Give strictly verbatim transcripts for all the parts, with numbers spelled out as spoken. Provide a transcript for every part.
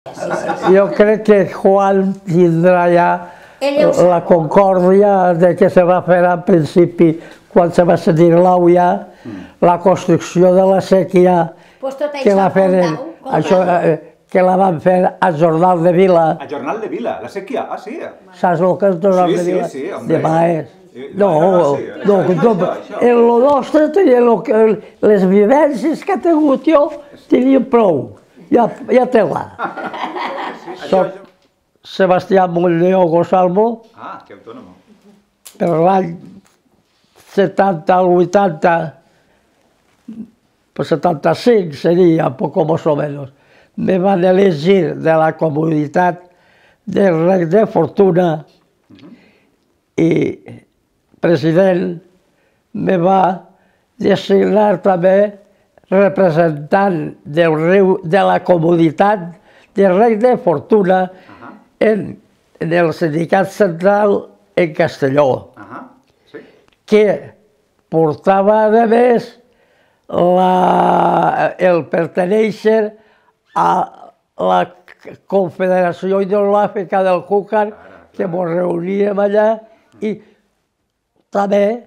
Jo crec que Juan tindrà ja la concòrdia de que se va fer al principi, quan se va sentir l'au ja, la construcció de la sèquia que la feren, això, que la van fer a Jornal de Vila. A Jornal de Vila, la sèquia, ah sí? Saps el que és Jornal de Vila? Sí, sí, sí, de Baez. No, no, no, en lo nostre tenia les vivències que he tingut jo, tenia prou, ja té-la. Soc Sebastià Montlleo Gosalmo. Ah, que autònomo. Per l'any setanta al vuitanta, pues setanta-cinc seria, poco más o menos, me van elegir de la comunitat del Rec de Fortuna i president me va designar també representant del riu de la comunitat del Rec de Fortuna en el sindicat central en Castelló, que portava a més el pertenèixer a la Confederació Hidrogràfica del Júcar, que ens reuníem allà, i també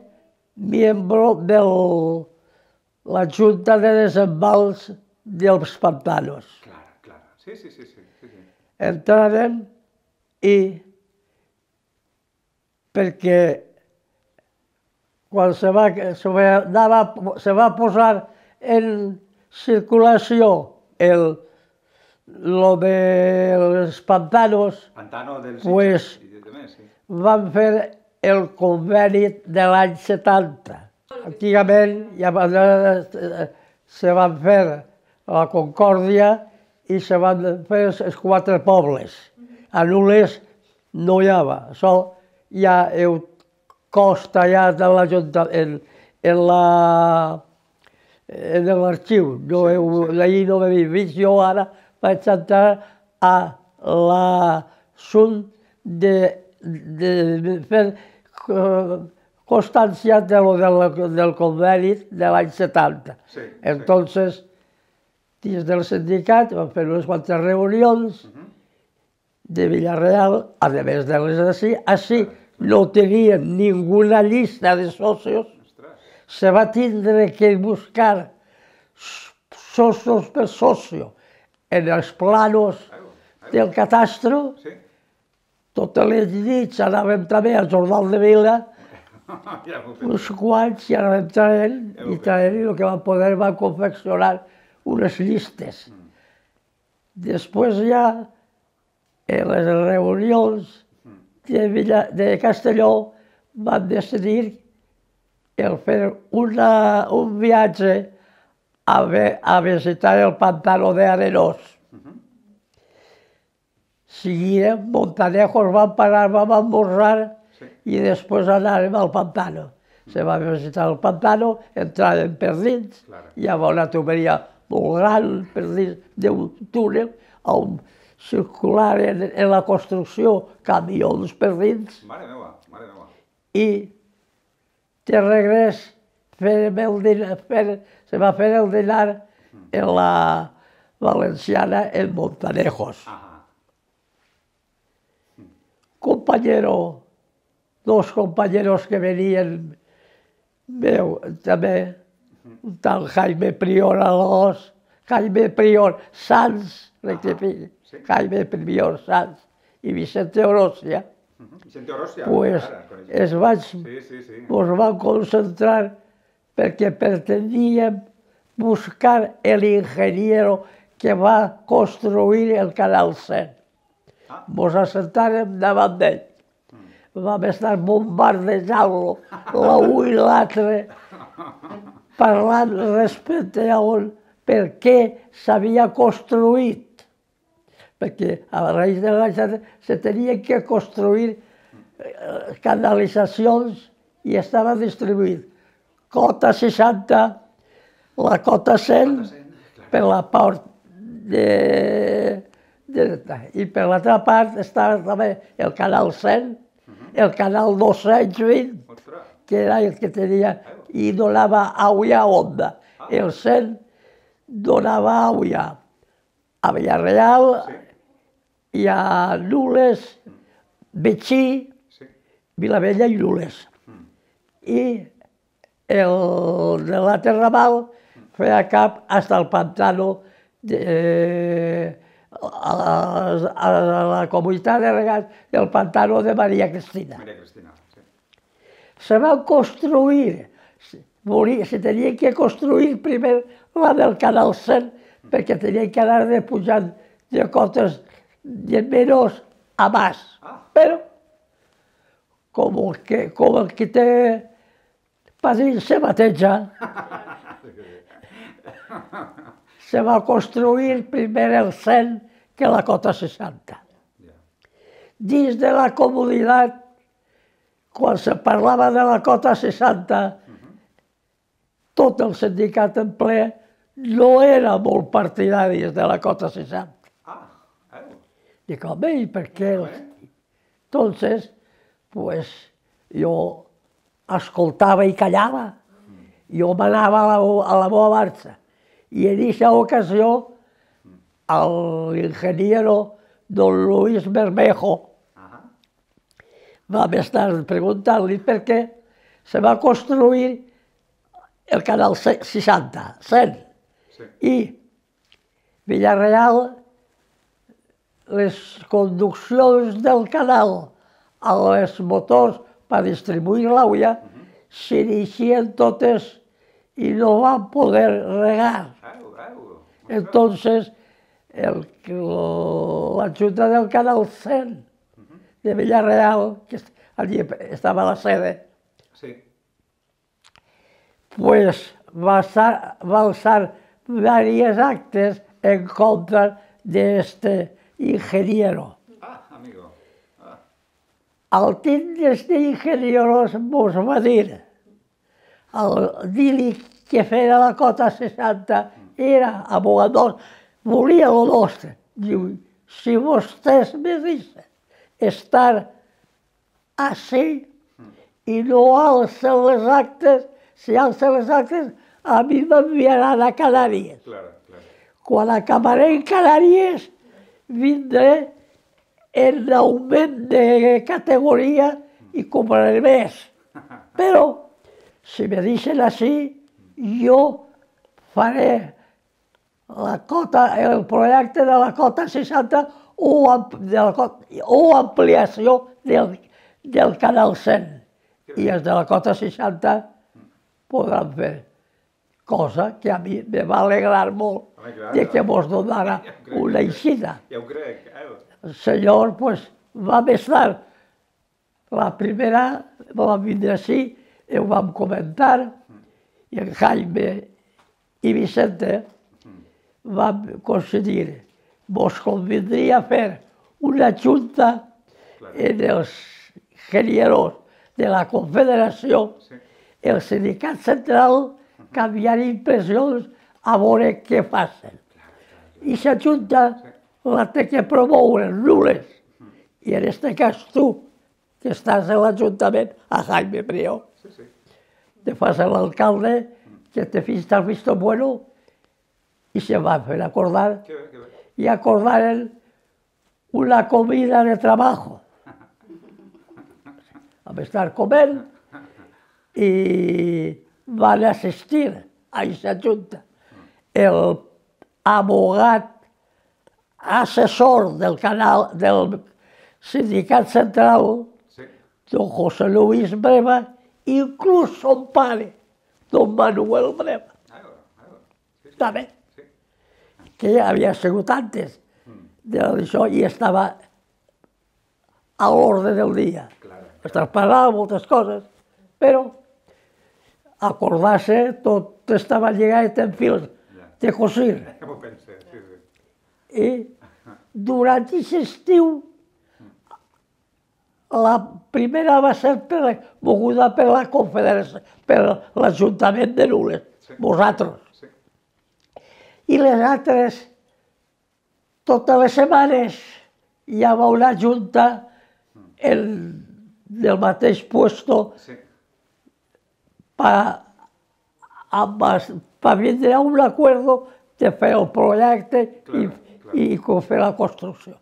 membre de la Junta de Desembals dels Pantanos. Sí, sí, sí. Entràrem i perquè quan se va, se va, se va posar en circulació el, lo dels pantanos, pues van fer el conveni de l'any setanta. Antigament ja se van fer la Concòrdia i se van fer els quatre pobles. A Nules no hi havia, això ja heu costa ja de l'Ajuntament, en l'arxiu, d'ahir no m'he vist, jo ara vaig entrar a l'assunt de fer constància del conveni de l'any setanta. Entonces, dins del sindicat vam fer unes quantes reunions de Villarreal, a més de les d'ací. Així no tenien ninguna llista de socios, se va tindre que buscar socios per socio en els planos del catastro. Totes les nits anàvem també al Jornal de Vila, uns quants, i anàvem traient, i traient, i el que van poder van confeccionar unes llistes. Després ja, en les reunions de Castelló, van decidir el fer un viatge a visitar el pantano d'Arenós. Seguíem, Montanejos vam parar, vam almorzar i després anàrem al pantano. Se va visitar el pantano, entràvem per dins, hi havia una tuberia molt gran per dins d'un túnel on circular en la construcció camions per dins. Mare meva, mare meva. I de regrés se va fer el dinar en la Valenciana en Montanejos. Compañero, dos compañeros que venien meu també, un tal Jaime Prior Alós, Jaime Prior Sanz, rectifique, Jaime Prior Sanz i Vicente Orosia, pues es vaig, ens van concentrar perquè preteníem buscar el ingeniero que va construir el Canal cent. Ens assentàrem davant d'ell. Vam estar bombardejant-lo, l'un i l'altre, parlant respecte a on, per què s'havia construït. Perquè a raïs de l'any se tenien que construir canalitzacions i estava distribuït. Cota seixanta, la cota cent, per la part de... i per l'altra part estava també el canal cent, el canal dos-cents vint, que era el que tenia i donava aigua a Onda. El cent donava aigua a Villarreal hi ha Nules, Betxí, Sí. Vilavella i Nules. I el de la Terramal feia cap hasta el pantano de, a, la, a la comunitat de regants del pantano de Maria Cristina. María Cristina, sí. Se va construir, se tenia que construir primer la del Canal cent, perquè tenia que anar de pujant de cotes de menys a més. Però, com el que, com el que té pa dir se bateja, se va construir primer el cent que la cota seixanta. Dins de la comunitat, quan se parlava de la cota seixanta, tot el sindicat en ple no era molt partidari de la cota seixanta. Ah, eh? Dic, home, i per què? Entonces, pues, jo escoltava i callava. Jo m'anava a, a la meva marxa. I en aquesta ocasió, l'ingeniero don Luis Bermejo vam estar preguntant-li per què se va construir el canal seixanta, cent. Sí. I Villarreal, les conduccions del canal a les motors per distribuir l'aigua s'iniciaren totes i no van poder regar. Au, au. Entonces, el, la Junta del Canal cent de Villarreal, que allí estaba la sede, Sí. pues va, alzar, va alzar varios actes en contra de este ingeniero. Ah, amigo. Ah. Al tindre este ingeniero mos va dir, al dir-li que feia la cota seixanta era abogador, volia lo nostre. Diu, si vostès me deixen estar així i no alcen les actes, si alcen les actes, a mi m'enviaran a Canàries. Claro, claro. Quan acabaré en Canàries, vindré en augment de categoria i cobraré més. Però, si me deixen així, jo faré la cota, el projecte de la cota seixanta o, de la cota, o ampliació del, del canal cent. I els de la cota seixanta podran fer. Cosa que a mi me va alegrar molt de que mos donara una eixida. Ja ho crec. El senyor, pues, vam estar la primera, vam vindre així, i ho vam comentar, i en Jaime i Vicente vam coincidir. Vos convindria fer una junta en els ingenieros de la Confederació, el sindicat central, canviar impressions a veure què facin. I la junta la té que promoure Nules. I en este cas tu, que estàs en l'Ajuntament, a Jaime Prió. Te fas l'alcalde, que te fiste el visto bueno, i se va fer acordar, i acordaren una comida de trabajo. Vam estar coment i van assistir a aquesta junta el abogat assessor del canal del sindicat central, don José Luis Breva, inclús son pare, don Manuel Breva. També, que ja havia sigut antes d'això i estava a l'ordre del dia. Estava parlant moltes coses, però acordar-se, tot estava lligat en fils de cosir. I durant aquest estiu, la primera va ser moguda per la Confederació, per l'Ajuntament de Nules, vosaltres. I les altres, totes les setmanes, hi havia una junta del mateix puesto per vindre a un acord de fer el projecte i fer la construcció.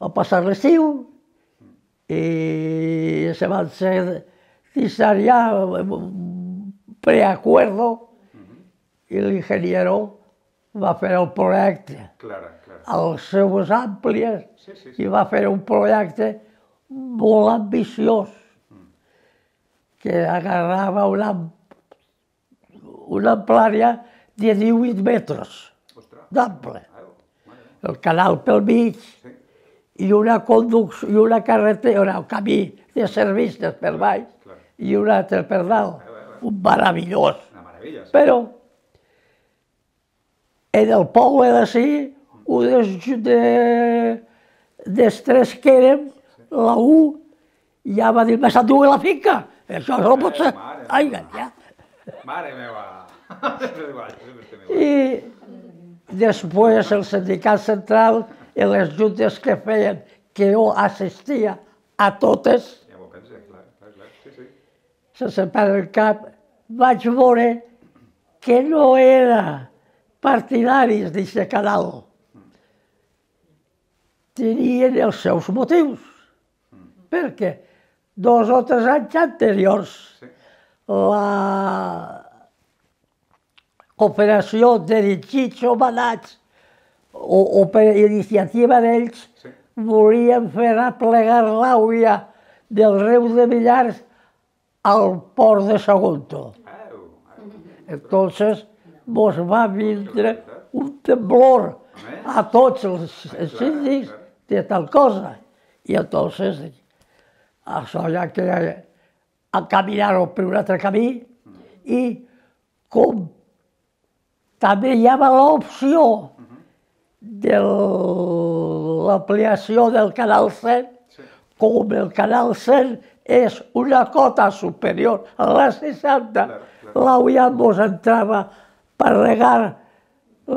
va passar l'estiu i se van ser ya un preacuerdo i l'ingeniero va fer el projecte a les seues àmplies i va fer un projecte molt ambiciós que agarrava una, una amplària de divuit metres d'ample, el canal pel mig i una conducció, i una carretera, un camí de servicis per baix i un altre per dalt, un meravellós. Però en el poble d'ací, un dels, dels tres que érem, la U, ja va dir, me s'endú la finca, això no pot ser. Ai, ja. Mare meva! I després el sindicat central i les juntes que feien, que jo assistia a totes, sense perdre el cap, vaig veure que no era partidaris d'aquest canal. Tenien els seus motius, perquè dos o tres anys anteriors la cooperació dirigits o manats o, o per iniciativa d'ells volien fer aplegar l'aigua del riu de Millars al port de Sagunto. Entonces mos va vindre un temblor a tots els síndics de tal cosa. I entonces això ja que encaminaron per un altre camí i com també hi havia l'opció de l'ampliació del canal cent, com el canal cent és una cota superior a la seixanta, l'aigua mos entrava per regar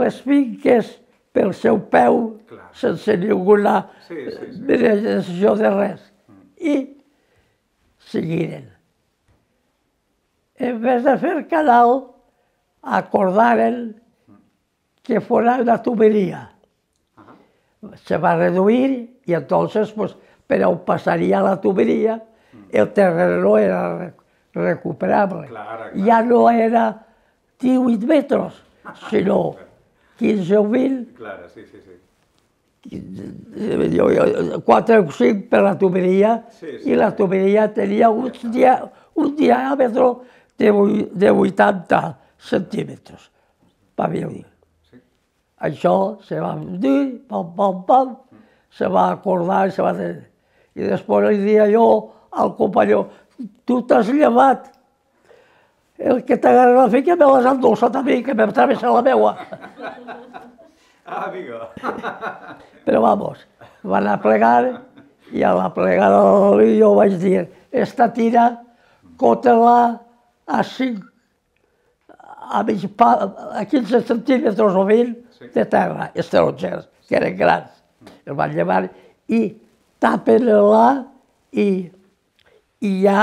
les finques pel seu peu, sense ninguna benedició de res. I seguiren. En vez de fer canal, acordaren que fora una tuberia. Se va reduir i entonces, pues, per on passaria la tuberia, el terreno era recuperable. Ja no era divuit metres, sinó quinze o vint. Quatre o cinc per la tuberia, i la tuberia tenia un diàmetre de vuitanta centímetres. Va dir. Això se va dir, pam, pam, pam, se va acordar i se va dir. I després li dia jo al companyó, tu t'has llevat, el que t'agarra la finca me l'has endolçat a mi, que m'he travessat la meua. Ah, amigo. Però vamos, van a plegar i a la plegada jo vaig dir, esta tira, cota-la a cinc, a mig pa, a quinze centímetres o vint de terra, estrangers, que eren grans. El van llevar i tapen-la i, i ja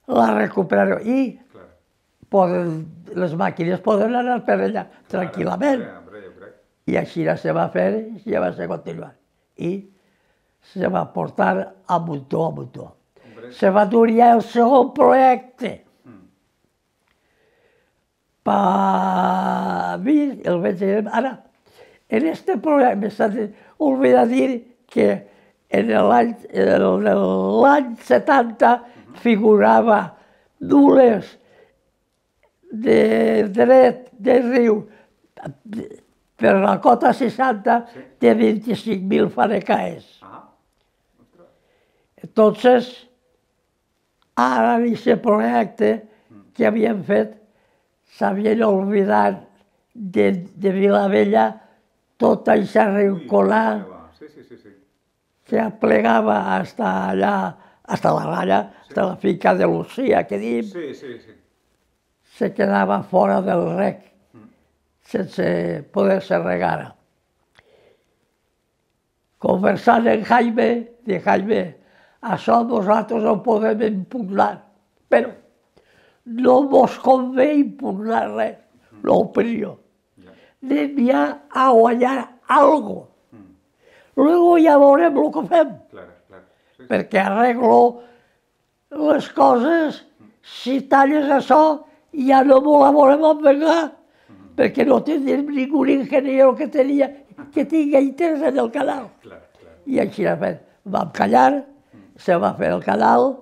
la recuperaran. I poden, les màquines poden anar per allà tranquil·lament. I així se va fer i ja va ser continuar. I se va portar a muntó a muntó. Se va dur ja el segon projecte. Per mi, el vaig dir, ara, en este projecte m'està oblidat dir que en l'any setanta figurava nules de dret de riu per la cota seixanta de vint-i-cinc mil fanecaes. Entonces, ara en aquest projecte que havien fet, s'havien oblidat de, de Vilavella tota aquesta rinconà que aplegava hasta allà, hasta la raya, hasta la finca de Lucía, que dim, se quedava fora del rec, sense poder-se regar. Conversant amb Jaime, de Jaime, això nosaltres ho podem impugnar, però no mos convé impugnar res, l'opinió. Anem ja a guanyar alguna cosa. luego ja veurem el que fem, Claro, claro. Sí, sí. perquè arreglo les coses, si talles això, ja no me la volem envengar, perquè no tindrem ningú ingeniero que tenia, que tingui interès en el canal. Claro, claro. I així ha fet. Vam callar, se va fer el canal,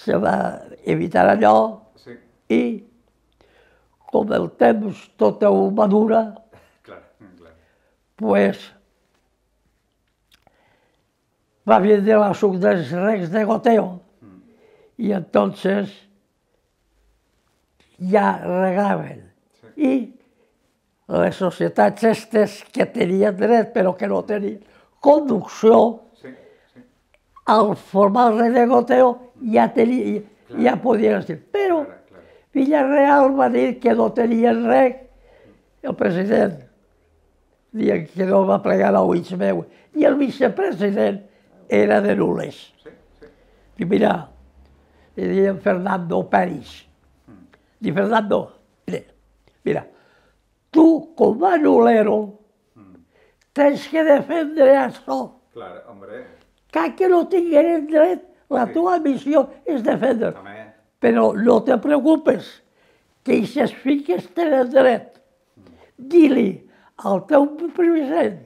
se va evitar allò, Sí, i com el temps tota ho madura, claro, claro. pues va vindre la suc dels regs de goteo i entonces ja regaven. Sí. I les societats estes que tenien dret però que no tenien conducció, Sí, sí. al formar el reg de goteo ja, tenia, ja podien estar. Però Claro, claro. Villarreal va dir que no tenien reg, el president, dient que no va plegar a ulls meu, i el vicepresident era de Nules. Sí, sí. I mira, li deien Fernando Peris. Di Fernando, mira, tu com a nulero tens que defendre això. Claro, hombre. Cal que no tingueren dret, la Sí. teva missió és defendre. También. Però no te preocupes, que aquestes finques tenen dret. Di-li al teu president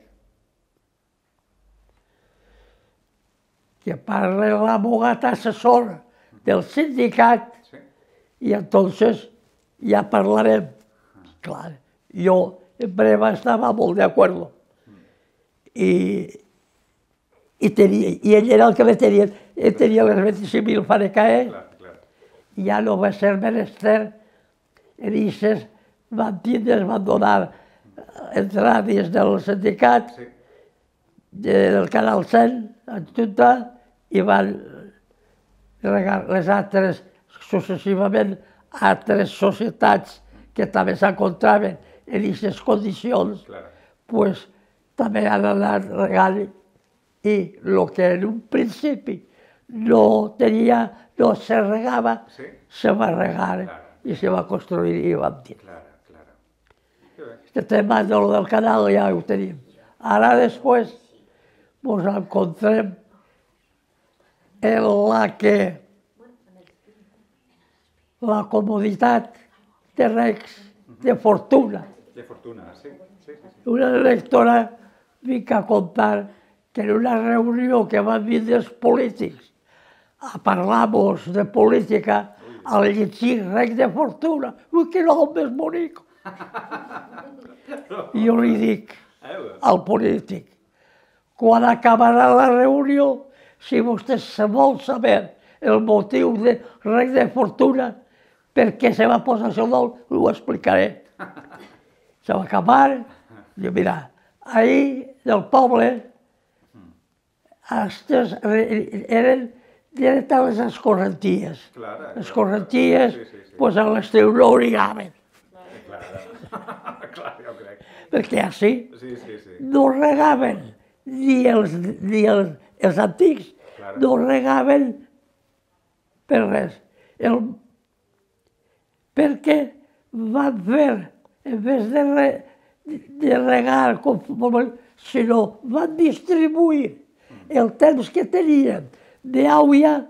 que parli l'abogat assessor del sindicat Sí. i entonces ja parlarem. Clar, jo en breve estava molt d'acord. I, i, tenia, I ell era el que me tenia, ell tenia les vint-i-cinc mil fanecaes, Claro, claro. ja no va ser menester, en aquestes van tindre, van donar entrades del sindicat, Sí. del Canal cent, en Junta, i van regar les altres, successivament, altres societats que també s'encontraven en aquestes condicions, Claro. pues també han anat regant i el que en un principi no tenia, no se regava, Sí. se va regar Claro. i se va construir i vam dir. Claro, claro. Qué bien. Este tema de lo del canal ja ho tenim. Ara després ens encontrem en la que la comoditat de regs de fortuna. Qué fortuna, sí. Sí, sí, sí. Una lectora vinc a contar que en una reunió que van vindre els polítics a parlar-nos de política, al llegir reg de fortuna, ui, que nom més bonic. I jo li dic al polític, quan acabarà la reunió, si vostè se vol saber el motiu de reg de fortuna, per què se va posar això nom, ho explicaré. Se va acabar, diu, mira, ahir del poble, estes eren directe a les escorrenties. Claro. Les escorrenties, Sí, sí, sí. pues a l'estiu no obligaven, Claro. Claro, jo crec. perquè així Sí, sí, sí. no regaven ni els, ni els, els antics, Claro. no regaven per res. El, perquè van fer, en vez de, re, de regar, com, sinó van distribuir el temps que tenien d'aigua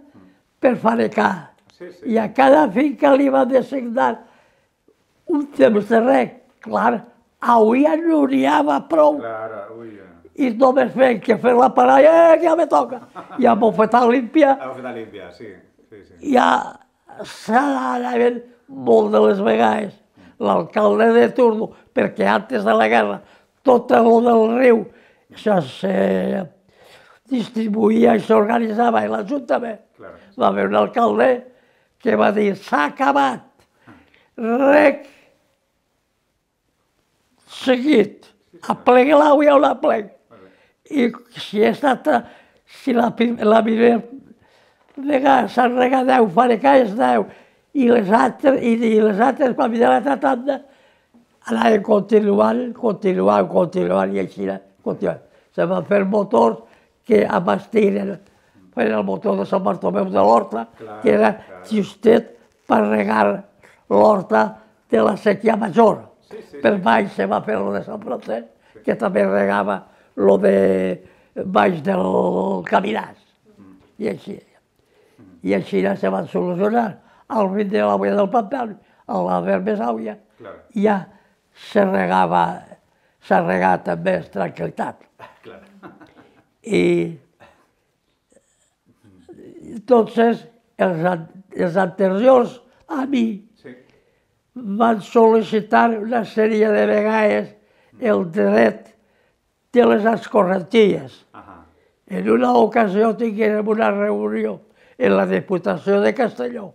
per fanecar. Sí, sí. I a cada finca li van designar un temps de reg. Clar, aigua no n'hi havia prou. Claro, uy. I només feien que fer la paralla, eh, que ja me toca. I a bofetar limpia, La bofeta limpia, sí. Sí, sí. ja s'anaven molt de les vegades. L'alcalde de turno, perquè antes de la guerra tot el del riu això se distribuïa i s'organitzava i l'Ajuntament. Claro. Va haver un alcalde que va dir s'ha acabat, rec seguit, aplegui l'aigua o l'aplegui. I si he estat, si la, prim- la primera vegada s'han regat deu fanecaes, deu, i les altres, i, i les altres, quan vindrà l'altra tanda, anaven continuant, continuant, continuant, i així, continuant. Se van fer motors que abastiren, feien el motor de Sant Bartomeu de l'Horta, Clar, que era clar. justet per regar l'Horta de la sequia major. Sí, sí, Per sí. baix se va fer lo de Sant Francesc, que també regava lo de baix del caminàs. I així. I així se van solucionar. Al vint de l'àvia del pantà, a la més àvia, ja se regava, s'ha regat amb més tranquil·litat. I entonces els, els anteriors a mi van sol·licitar una sèrie de vegades el dret de les escorrenties. En una ocasió tinguérem una reunió en la Diputació de Castelló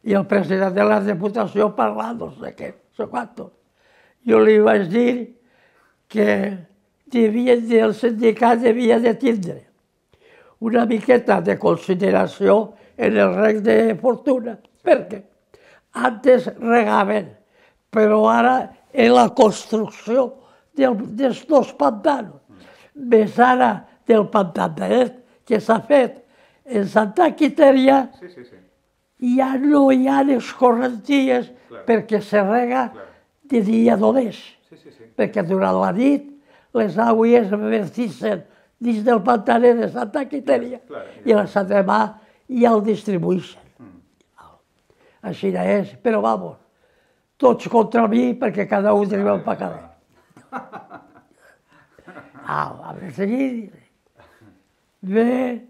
i el president de la Diputació parlant, no sé què, no sé quantos. Jo li vaig dir que el sindicat devia de tindre una miqueta de consideració en el reg de fortuna. Per què? Antes regaven, però ara en la construcció dels dos pantanos, més ara del pantanet que s'ha fet en Santa Quiteria, ja no hi ha escorrenties perquè se rega de dia només. Perquè durant la nit les aigües vertixen dins del pantanet de Santa Quiteria i la demà ja el distribueixen. Així és, però vamos, tots contra mi perquè cada un té el pecadet. Ah, a seguir, bé,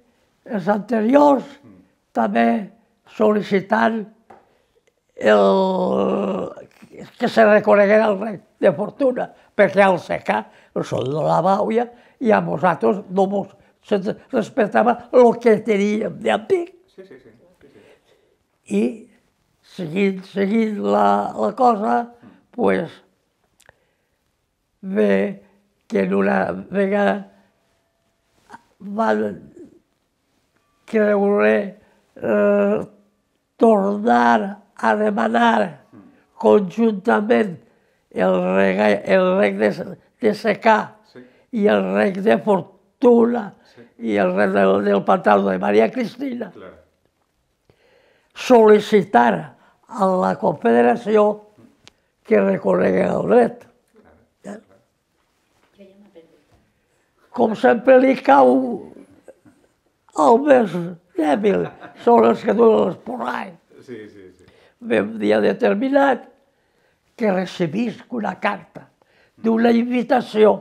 els anteriors també sol·licitant que se reconeguera el rei de fortuna, perquè al secà el sol de la bauia i a nosaltres no ens respectava el que teníem d'antic. I seguint la cosa, doncs, bé que en una vegada van creure tornar a demanar conjuntament el reg de secà i el reg de fortuna i el reg del pantà de Maria Cristina, sol·licitar a la Confederació que reconegui el dret. Com sempre li cau el més dèbil, són els que duen l'esporrai. Un dia determinat que recibisc una carta d'una invitació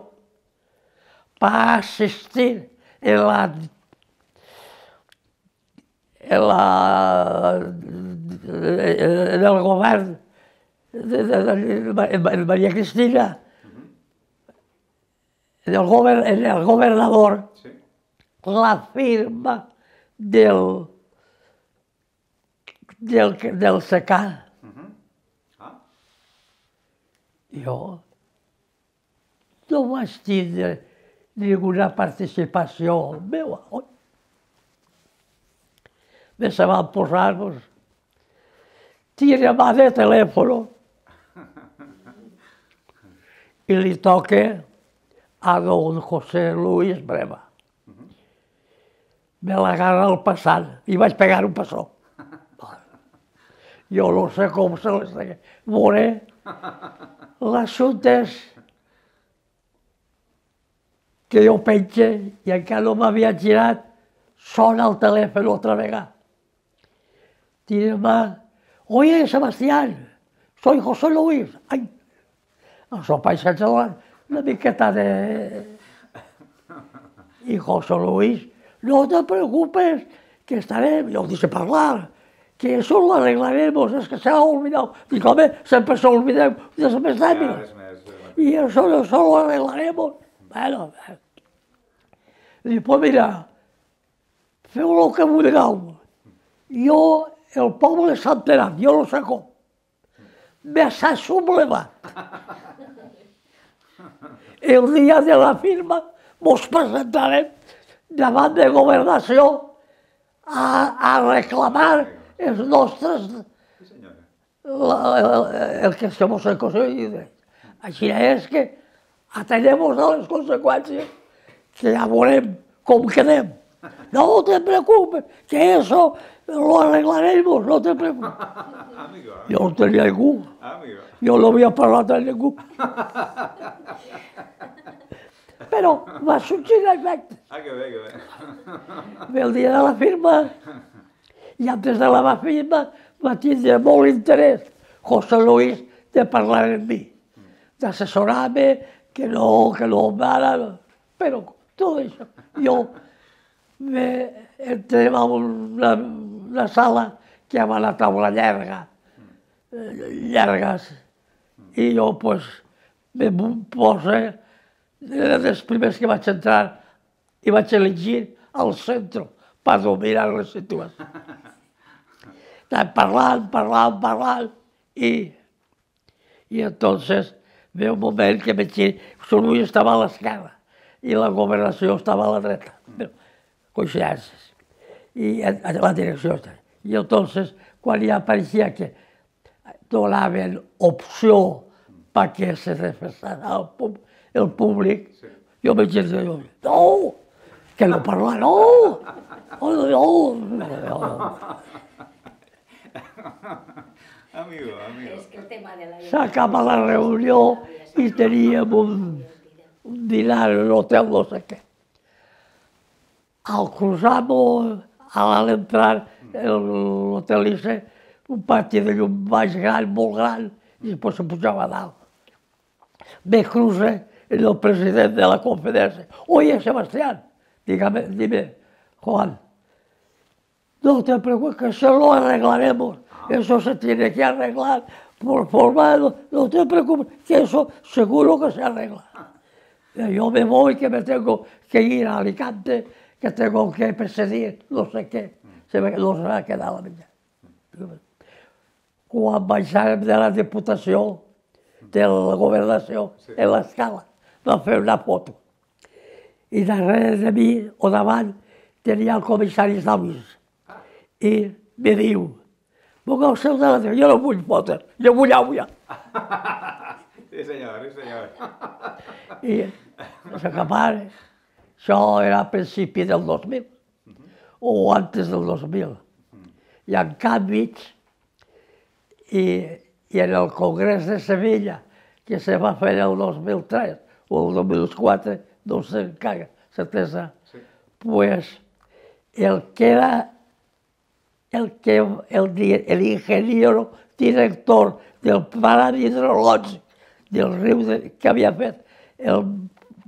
per assistir en la en la en el govern de Maria Cristina, en el governador, la firma del del secà. Jo no vaig tindre ninguna participació meva. Me se van posar, tira mà de telèfon i li toca a don José Luis Breva. Me l'agarra al passant i vaig pegar un passó. Jo no sé com se les deia. Veuré, l'assumpte és que jo penja i encara no m'havia girat, sona el telèfon altra vegada. Tira-me, oye, Sebastián, soy José Luis. Ai, el seu paisatge davant, una miqueta de... I José Luis, no te preocupes, que estarem, yo dice hablar, que eso lo arreglaremos, es que se ha olvidado. Digo, hombre, siempre se olvida de los más débiles. Y eso, eso lo arreglaremos. Bueno, dic, pues mira, feu el que vulgueu. Jo, el poble s'ha enterat, jo no sé com. Me s'ha sublevat. El dia de la firma mos presentarem davant de governació a reclamar els nostres... el que se mos aconseguit. Així és que atenem-nos a les conseqüències, que ja veurem com quedem. No te preocupes, que eso lo arreglaremos, no te preocupes. Jo no tenia ningú, jo no havia parlat amb ningú. Però va sorgir efecte. Ah, que bé, que bé. Ve el dia de la firma, i antes de la firma va tindre molt interès José Luis de parlar amb mi, d'assessorar-me, que no, que no, ara, però tot això. Jo me entrem a una, una sala que hi ha una taula llarga, llargues, i jo pues, me poso, era dels primers que vaig entrar i vaig elegir al centre per dominar la situació. Estava parlant, parlant, parlant, i, i entonces ve un moment que veig que Sorull estava a l'esquerra i la governació estava a la dreta, coincidències, i a la direcció. I entonces, quan ja apareixia que donaven opció perquè se defensara el, pub, el públic, sí. Jo vaig dir, no, que no parla, no, no, no, no. Amigo, amigo. S'acaba la reunió i teníem un, un dinar en l'hotel, no sé què. Al cruzar-nos, a l'entrar, l'hotel Ice, un pati de llum baix gran, molt gran, i després se pujava a dalt. Me cruza el president de la conferencia. Oye, Sebastián, dígame, dime, Juan, no te preocupes, que eso lo arreglaremos. Eso se tiene que arreglar por formado. No te preocupes, que eso seguro que se arregla. Yo me voy, que me tengo que ir a Alicante, que tengo que presidir, no sé qué. Se me, no se va quedar la vida. Quan baixàrem de la Diputació, de la Governació, en l'escala, vam fer una foto. I darrere de mi, o davant, tenia el comissari d'Avis. I me diu, ponga el seu de la... Jo no vull fotos, jo vull àuia. Sí, senyor, sí, senyor. I s'acabava. Això era a principi del dos mil, o antes del dos mil. I en canvi, i, i en el Congrés de Sevilla, que se va fer el dos mil tres o el dos mil quatre, no sé encara, certesa, sí. Pues el que era el, que, el, el ingeniero director del pla hidrològic del riu de, que havia fet el,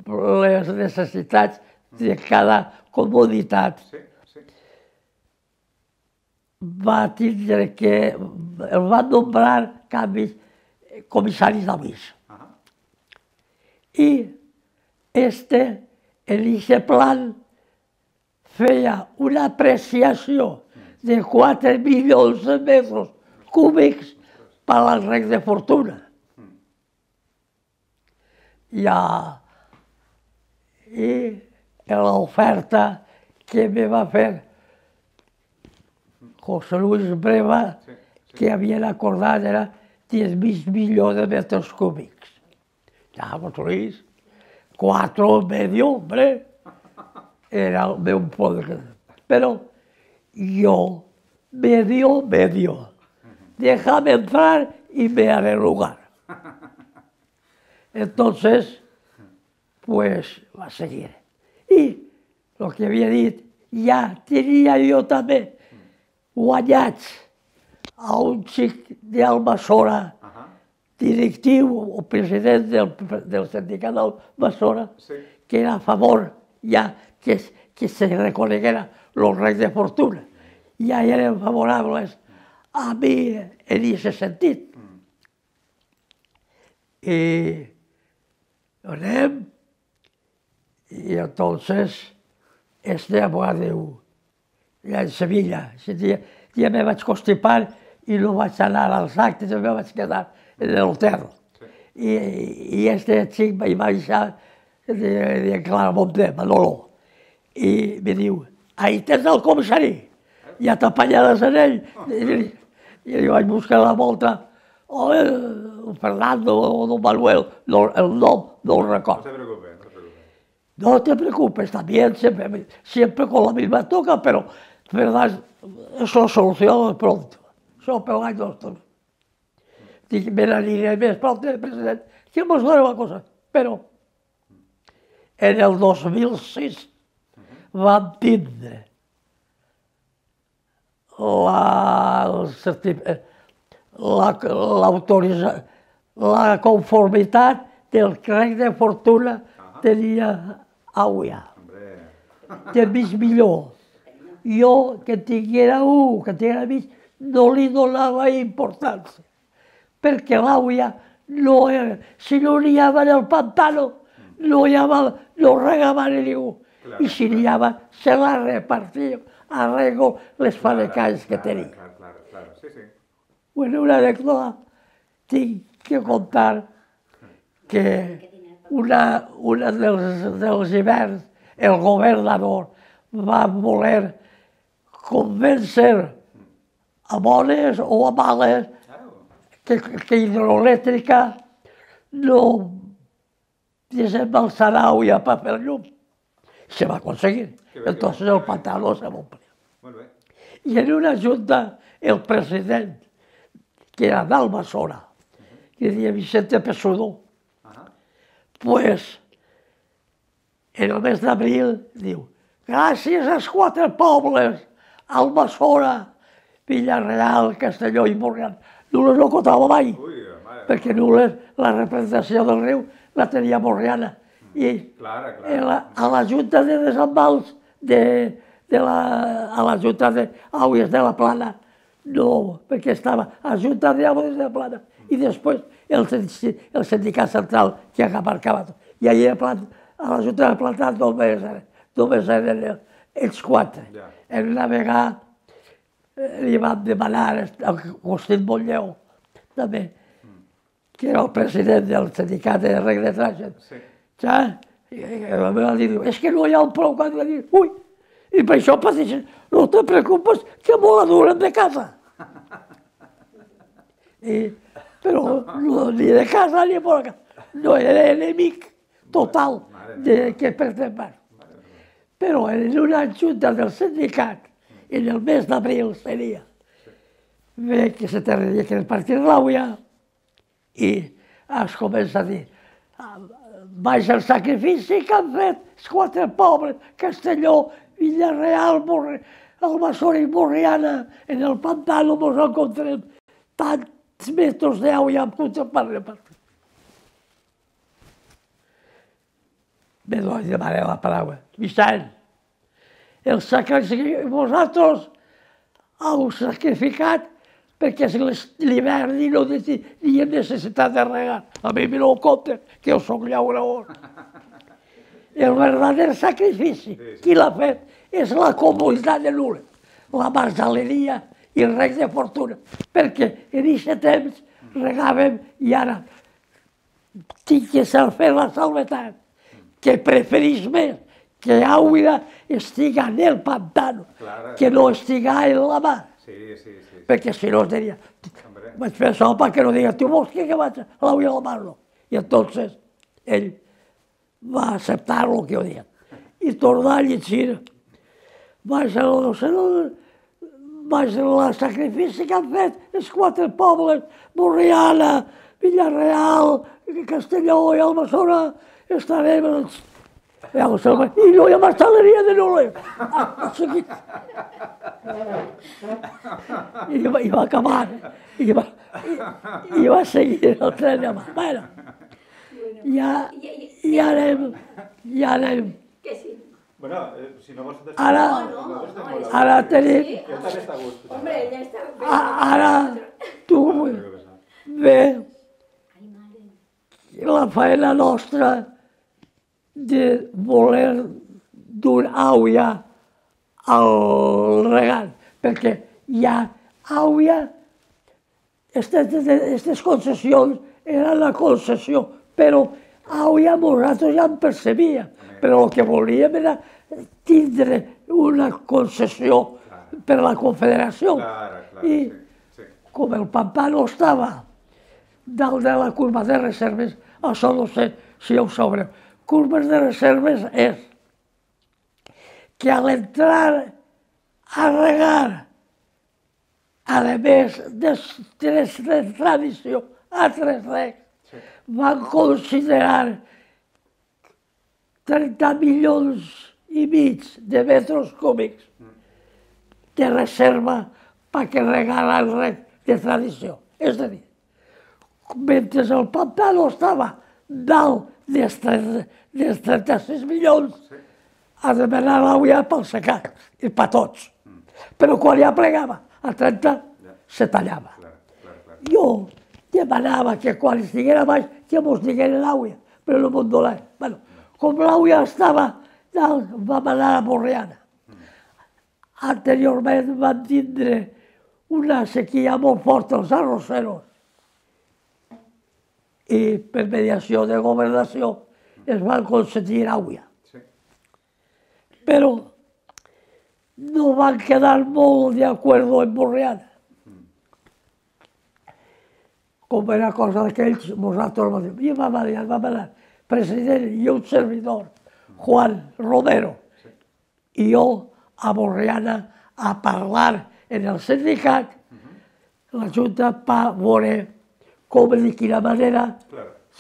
les necessitats de cada comunitat, sí, sí. Va tindre que, el van nombrar canvis comissaris d'Avis. Uh -huh. I este, en aquest plan, feia una apreciació de quatre milions de metres cúbics per al rec de fortuna. Ja, i l'oferta que me va fer José Luis Breva, que havien acordat era diez mil milions de metres cúbics. Ja, José Luis, cuatro medio, hombre, era el meu poder. Però yo, medio, medio, déjame entrar y me haré lugar. Entonces, pues, va seguir. I, el que havia dit, ja tenia jo també guanyats a un xic d'Almassora, directiu o president del, del sindicat d'Almassora, sí. Que era a favor ja que, que se reconeguera los reis de fortuna. Ja eren favorables a mi en aquest sentit. Mm. I anem, i entonces este va dir, ja en Sevilla, ja, ja me vaig constipar i no vaig anar als actes, me vaig quedar en l'hotel. Sí. I, I este xic vaig baixar de, de Claramonte, Manolo, i me diu, ahí tens el comissari, ja t'apanyaràs en ell. I, i jo vaig buscar la volta, o el Fernando o don Manuel, no, el nom no el recordo. No te preocupes, no te preocupes. No te preocupes, también siempre, siempre con la misma toca, pero verdad, eso lo soluciono pronto. Això per l'any dos. Dic, me n'aniré més pronto, president, que mos dona una cosa, però En el dos mil sis van tindre l'autorització, la conformitat del crec de fortuna tenia Àuia. De mig milió. Jo, que tinguera un, que tinguera mig, no li donava importància. Perquè l'Àuia, no, si no n'hi havia en el pantano, no hi havia, no regava ningú. I si n'hi havia, se la repartia arreglo les fanecalls que tenia. Bueno, una anècdota, tinc que contar que una, una dels, dels hiverns el governador va voler convèncer a bones o a males que, que hidroelèctrica no desembalsarà Àuia per fer llum. Se va aconseguir. Entonces el pantaló se m'omplia. I en una junta el president, que era d'Almassora, que deia Vicente Pesudó, pues en el mes d'abril diu, gràcies als quatre pobles, Almassora, Villarreal, Castelló i Borriana. Nules no contava mai, perquè Nules, la representació del riu, la tenia Borriana. I a la Junta de Desembals, a la Junta d'Àuies de la Plana, no, perquè estava a la Junta d'Àuies de la Plana i després el sindicat central que abarcava tot. I allà a la Junta de la Plana només eren els quatre. En una vegada li van demanar a Agustín Montlleu, també, que era el president del sindicat de Rec de Trànsit, i la meva diu, és que no hi ha un prou que dir, ui, i per això pateixen, no te preocupes, que me la duren de casa. Però ni de casa ni per casa, no era enemic total que pertembrar. Però en una junta del sindicat, en el mes d'abril seria, ve que se tenia que repartir l'Àuia i es comença a dir, baix el sacrifici que han fet els quatre pobles, Castelló, Villarreal, Almassora i Borriana, en el pantano ens encontrem tants metres d'Àuia amb tots per repartir. Me doy demanar la paraula. Vicent, el sacrifici, vosaltres heu sacrificat perquè és l'hivern i no hi ha necessitat de regar. A mi me no ho compten, que jo soc llaurador. El verdader sacrifici, qui l'ha fet, és la comunitat de Nules, la marsaleria i el rec de fortuna. Perquè en aquest temps regàvem i ara tinc que fer la salvetat, que preferís més que Àuia estiga en el pantano, que no estiga en la mar. Perquè si no es diria, vaig fer això perquè no diga, tu vols que vaig a l'Àuia a la mar? No. I entonces ell va acceptar el que jo deia. I tornar a llegir, vaig a la sacrifici que han fet els quatre pobles, Borriana, Villarreal, Castelló i Almassora, estarem els... I no hi ha marsaleria de Nules. I va acabar, i va seguir el tren de mà. Bueno, ja anem, ja anem. Ara tenim... Ara tu... Bé, la feina nostra de voler dur Àuia al regal, perquè hi ha Àuia, aquestes concessions eren la concessió, però Àuia nosaltres ja en percebia, però el que volíem era tindre una concessió per la Confederació. I com el pantano estava dalt de la curva de reserves, això no sé si ho sabreu. Curves de reserves és que a l'entrar a regar, a més de tres de tradició, a tres recs, van considerar trenta milions i mig de metres cúbics de reserva perquè regala el rec de tradició. És a dir, mentre el pantano estava dalt dels trenta-sis milions, ha de demanar l'aigua pel secat, i per tots. Però quan ja plegava a trenta, se tallava. Jo demanava que quan estiguera baix, que mos diguera l'aigua, però no m'ho donava. Bueno, com l'aigua estava dalt, vam anar a Borriana. Anteriorment van tindre una sequia molt forta, els arrosseros. I per mediació de governació es van concedir aigua. Però no van quedar molt d'acord en Borriana. Com era cosa d'aquells, nosaltres vam dir, i vam anar, vam anar, president i un servidor, Juan Romero, i jo a Borriana a parlar en el sindicat, la Junta va veure com de quina manera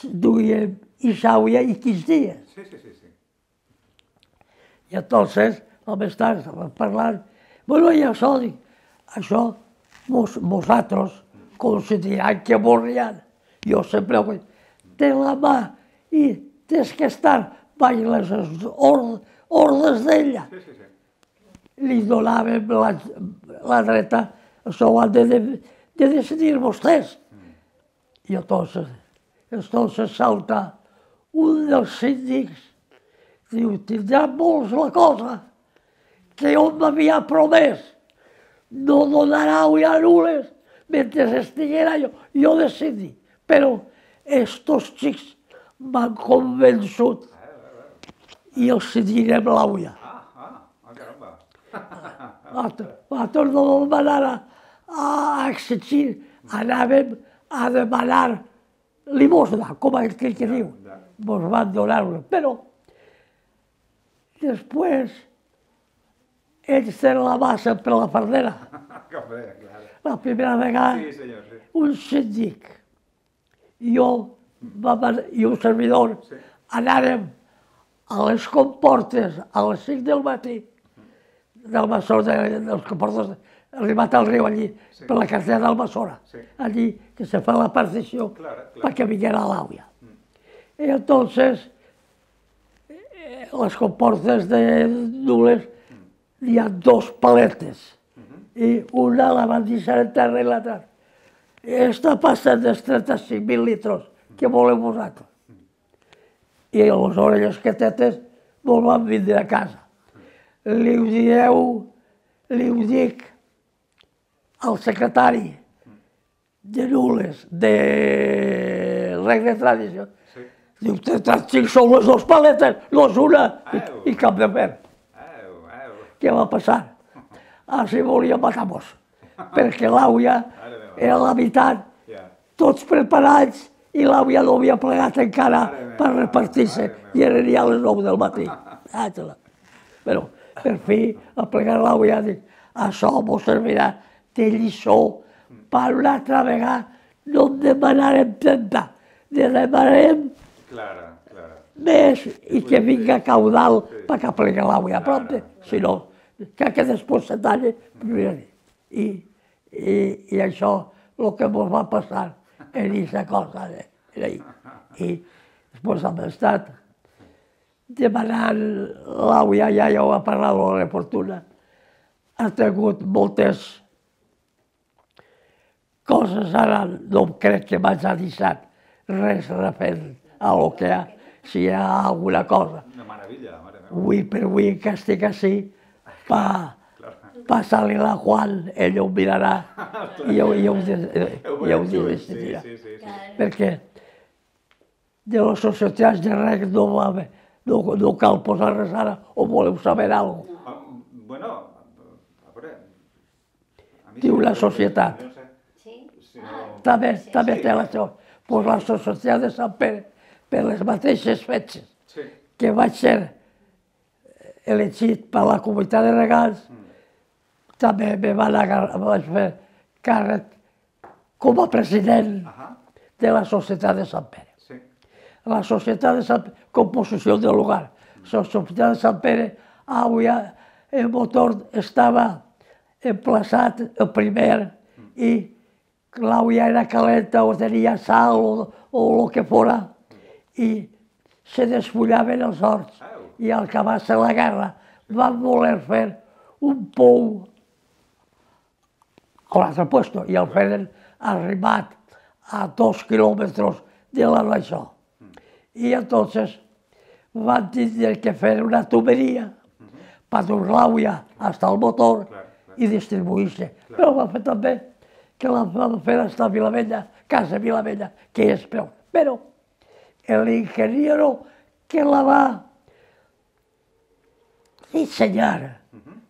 duien Isàuia i quins dies. Sí, sí, sí, sí. I entonces, vam estar parlant, bueno, i això, dic, això vosaltres consideran que Borriana, jo sempre ho dic, té la mà i tens que estar baix les ordres d'ella. Sí, sí, sí. Li donàvem la, la dreta, això ho han de, de decidir vostès. I entonces, entonces salta un dels síndics, diu, tindrà molts la cosa, que on m'havia promès no donar aigua a nules mentre estiguera jo, jo decidi. Però estos xics m'han convençut i els cedirem l'aigua. Ah, ah, ah, caramba. Nosaltres no vam anar a, a exigir, anàvem a demanar limosna, com aquell que diu. Ens van donar-ho, però després ells tenen la massa per la fardera. La primera vegada, Sí, senyor, sí. un síndic i jo i un servidor anàrem a les comportes a les cinc del matí del Massora, dels comportes, arribat al riu allí, per la carretera d'Almassora, allí que se fa la partició perquè vinguera l'aigua. I entonces, les comportes de Nules hi ha dos paletes i una la van deixar en terra i l'altra. Està passant dels trenta-cinc mil litres, què voleu vosaltres? I les orelles quetetes mos van vindre a casa. Li ho dieu, li ho dic al secretari de Nules, de Rec de Tradició. Diu, trenta-cinc són les dues paletes, no és una, i cap de fer. Què va passar? Així volia matar-nos, perquè l'aigua era la meitat, tots preparats, i l'aigua no havia plegat encara per repartir-se, i eren ja les nou del matí. Però, per fi, a plegar l'aigua, dic, això mos servirà de lliçó per una altra vegada no en demanarem trenta, ne demanarem més i que vinga caudal perquè plega l'aigua a prop, si no, que després se talla. I, i, i això, el que ens va passar en aquesta cosa. I després hem estat demanant l'aigua, ja ja ho ha parlat la reportuna, ha tingut moltes coses, ara no crec que m'hagi deixat res referent a lo que hi ha, si hi ha alguna cosa. Una meravella, mare meva. Avui per avui que estic així, passa-li la Juan, ell ho mirarà i ho decidirà. Perquè de les societats de rec no va haver, no cal posar res ara, o voleu saber alguna cosa. Bueno, a veure... Diu la societat. També, també té la seva. Doncs la societat de Sant Pere, per les mateixes fetges que vaig ser elegit per la comunitat de regants, també me van vaig fer càrrec com a president de la societat de Sant Pere. La societat de Sant Pere, composició del lugar. l'Hospital de Sant Pere, avui el motor estava emplaçat, el primer, i l'aigua era calenta o tenia sal o, o el que fora, i se despullaven els horts. I al acabar-se la guerra van voler fer un pou a l'altre puesto i el feren arribat a dos quilòmetres de la d'això. I entonces van tindre que fer una tuberia per dur l'aigua fins al motor i distribuir-se. Però va fer també que la van fer fins a Vilavella, Casa Vilavella, que és peor. Però l'ingeniero que la va dissenyar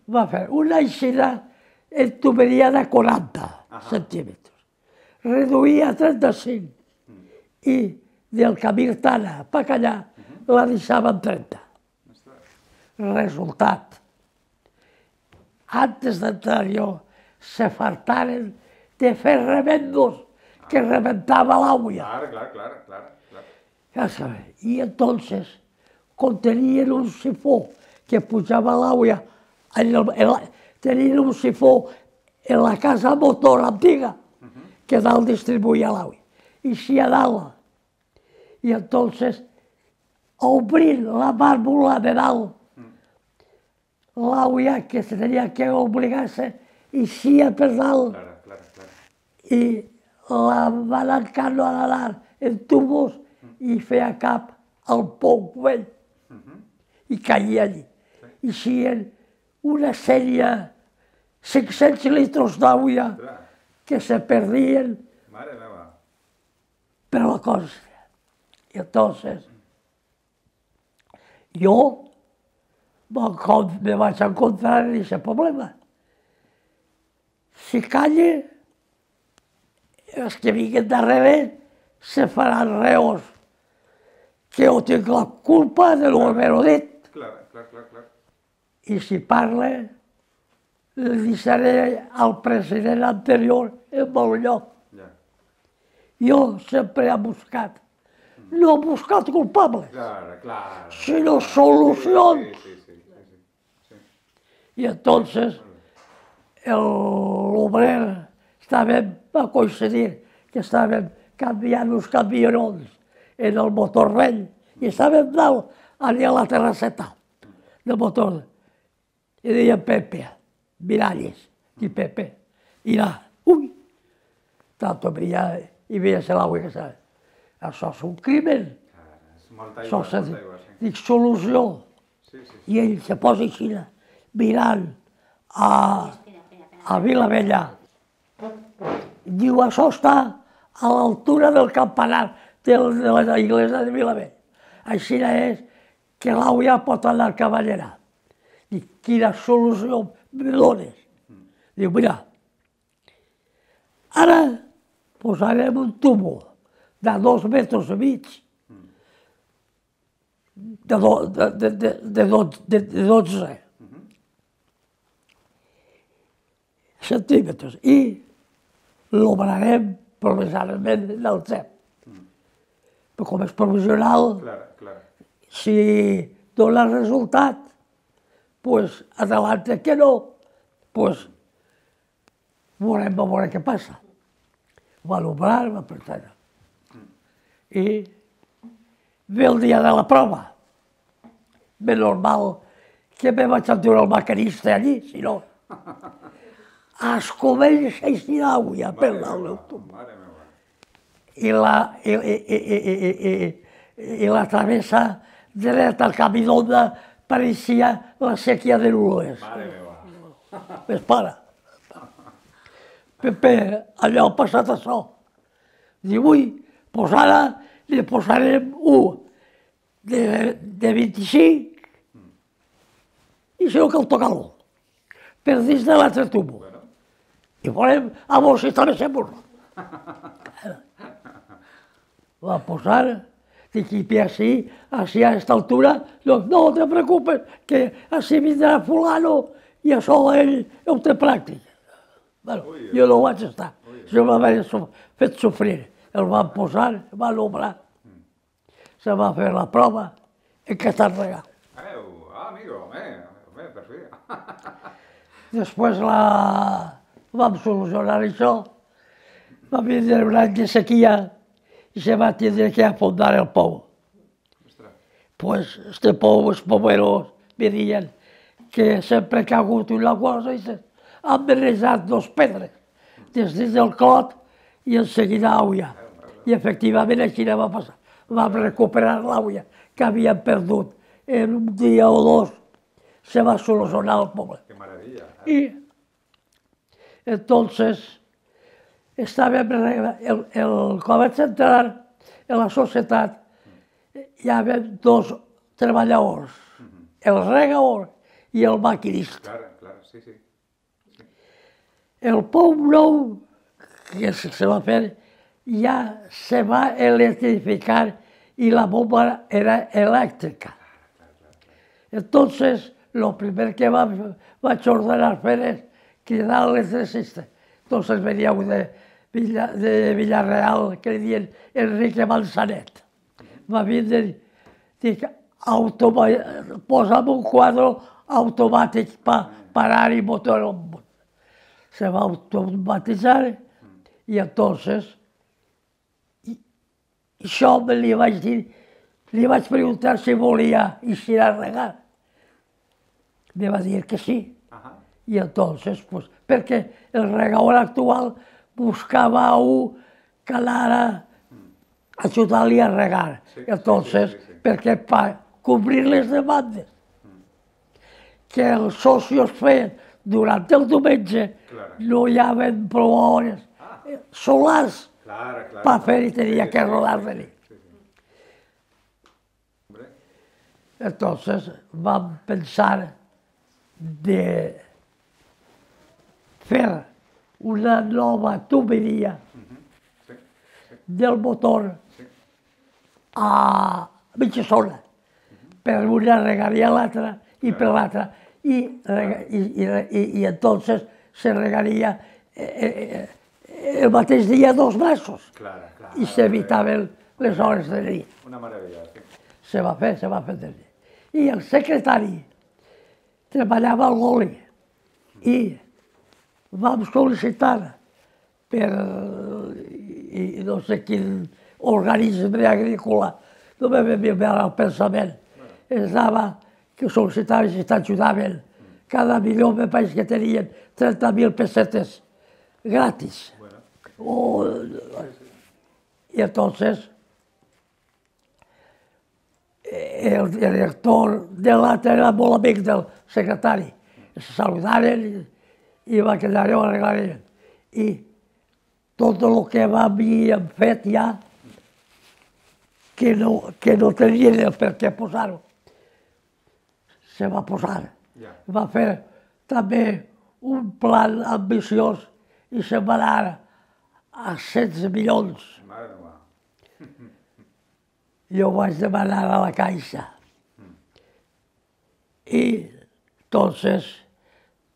va fer una eixida en tuberia de quaranta centímetres. Reduïa a trenta-cinc i del camí Tana a Pacallà la deixava en trenta. Resultat. Antes d'entrar jo se fartaren de fer remendos que reventava l'aigua. Claro, claro, claro, claro. Ja sabeu. I entonces contenien un sifó que pujava l'aigua, tenien un sifó en la casa motor antiga que dalt distribuïa l'aigua. I si a dalt. I entonces, obrint la vàlvula de dalt, l'aigua que se tenia que obligar-se eixia per dalt i la van encanonadar en tubos i feia cap al pou vell i caia allí. Eixien una sèrie, cinc-cents litres d'aigua que se perdien per la cosa. I entonces, jo me vaig encontrar en aquest problema. Si calle, els que vinguin darrere se faran reos, que jo tinc la culpa de no haver-ho dit. I si parle, li deixaré al president anterior en bon lloc. Jo sempre he buscat. No he buscat culpables, sinó solucions. I entonces l'obrer va coincidir que estàvem canviant uns camionons en el motor vell i estàvem dalt allà a la terrasseta del motor. I deia Pepe, Miralles, i Pepe, i là, ui, tanto brillava i veia-se l'aigua que estava. Això és un crimen. Això és, dic, solució. I ell se posa així, mirant a Vilavella. Diu, això està a l'altura del campanar de la iglesia de Vilavella. Així és que l'aigua pot anar a Cavallera. Dic, quina solució me dones? Diu, mira, ara posarem un tubo de dos metres i mig, de dotze centímetres, i l'obrarem provisionalment del C E P. Però com és provisional, si dona resultat, doncs adelante que no, doncs veurem, veurem què passa. Va l'obrar, va pretendre. I ve el dia de la prova. Ben normal que me vaig endur el maquinista allí, si no. Es comença a eixir l'aigua per dalt del tubo. I la travessa dreta al camí d'Onda pareixia la sèquia de Nules. Ves, para. Pepe, allò ha passat això. Diu, ui, doncs ara li posarem un de vint-i-cinc i si no cal tocar-lo, per dins de l'altre tubo. I veurem a veure si també se burla. Va posar, dic, i així, així a aquesta altura, no te preocupes, que així vindrà fulano i això ell ho té pràctic. Jo no vaig estar, jo m'havia fet sofrir. El van posar, van obrar, se va fer la prova, en què està regat. Home, per fi. Després la... vam solucionar això, va vindre un any de sequia i se va tindre que afondar el pou. Ostres. Pues este pou, els pomeros, me deien que sempre que ha hagut una cosa, han barrejat dos pedres, des dins del clot i en seguida l'auia. I efectivament així va passar. Vam recuperar l'auia que havíem perdut. En un dia o dos se va solucionar el poble. Que meravella. Y entonces estàvem, el, el, quan vaig entrar en la societat, hi havia dos treballadors, el regador i el maquinista. Clar, clar, sí, sí. El pou nou que se va fer ja se va electrificar i la bomba era elèctrica. Entonces, lo primer que va, vaig ordenar fer és cridar l'electricista. Entonces venia un de, Villa, de Villarreal que li diuen Enrique Manzanet. Va vindre i dic, automa, posa'm un quadre automàtic per parar i motor en món. Se va automatitzar i entonces i, això me li vaig dir, li vaig preguntar si volia eixir a regar. Me va dir que sí. Ajá. I entonces, pues, perquè el regador actual buscava a un que anara a ajudar-li a regar. Sí, entonces, sí, sí, sí. perquè per cobrir les demandes que els socios feien durant el diumenge, Claro. no hi havia prou hores Ah. solars Claro, claro. per fer i tenia Sí, que sí, rodar sí, de nit. sí, sí. Hombre, Entonces vam pensar de fer una nova tuberia sí, sí, del motor sí. a mitja zona. Per una regaria l'altra i per l'altra. I, rega- i, i, i, i entonces se regaria eh, eh, el mateix dia dos mesos Claro, claro. i s'evitaven les hores de nit. Una meravella, sí. Se va fer, se va fer de nit. I el secretari treballava a l'oli i vam sol·licitar per i, i no sé quin organisme agrícola, no me ve bé al pensament, ens dava que sol·licitaven si t'ajudaven. Cada milió me pareix que tenien trenta mil pessetes gratis. Bueno, O, y entonces el director de l'altre era molt amic del secretari. Se saludaren i, i va quedar jo arreglarien. I tot el que m'havien fet ja, que no, que no tenien el per què posar-ho, se va posar. ja. Va fer també un plan ambiciós i se'n va anar a setze milions. Mare meva. Jo vaig demanar a la Caixa. I, entonces,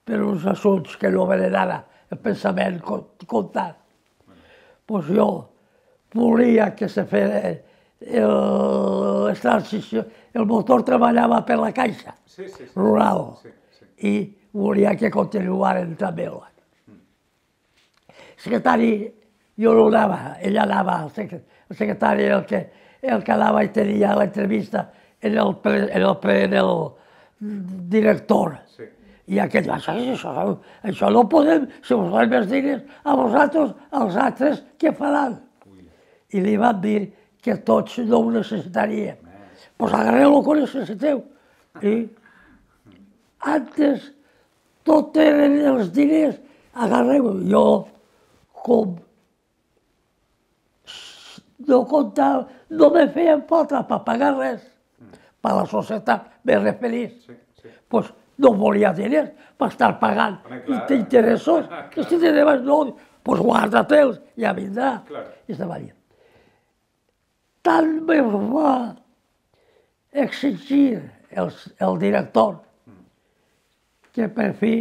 per uns assumptes que no venen ara el pensament comptar, pues jo volia que se fes la transició. El motor treballava per la Caixa Sí, sí, sí. rural Sí, sí. i volia que continuaren també. El secretari, jo no anava, ell anava, el secretari, el secretari era el que, el que anava i tenia l'entrevista en el, pre, en el, pre, en el director. Sí. I aquell va dir, això, això no podem, si us donem els diners a vosaltres, als altres, què faran? Ui. I li van dir que tots no ho necessitaríem. Doncs pues agarreu el que necessiteu. I antes tot eren els diners, agarreu. Jo, com no comptava, no me feien falta per pagar res, per la societat, me referís. Sí, sí. Pues no volia diners per estar pagant Home, clar. interessos. Que si te debes no, pues guarda-te'ls, ja vindrà. Claro. I estava allà. Tant me va exigir el, el director que per fi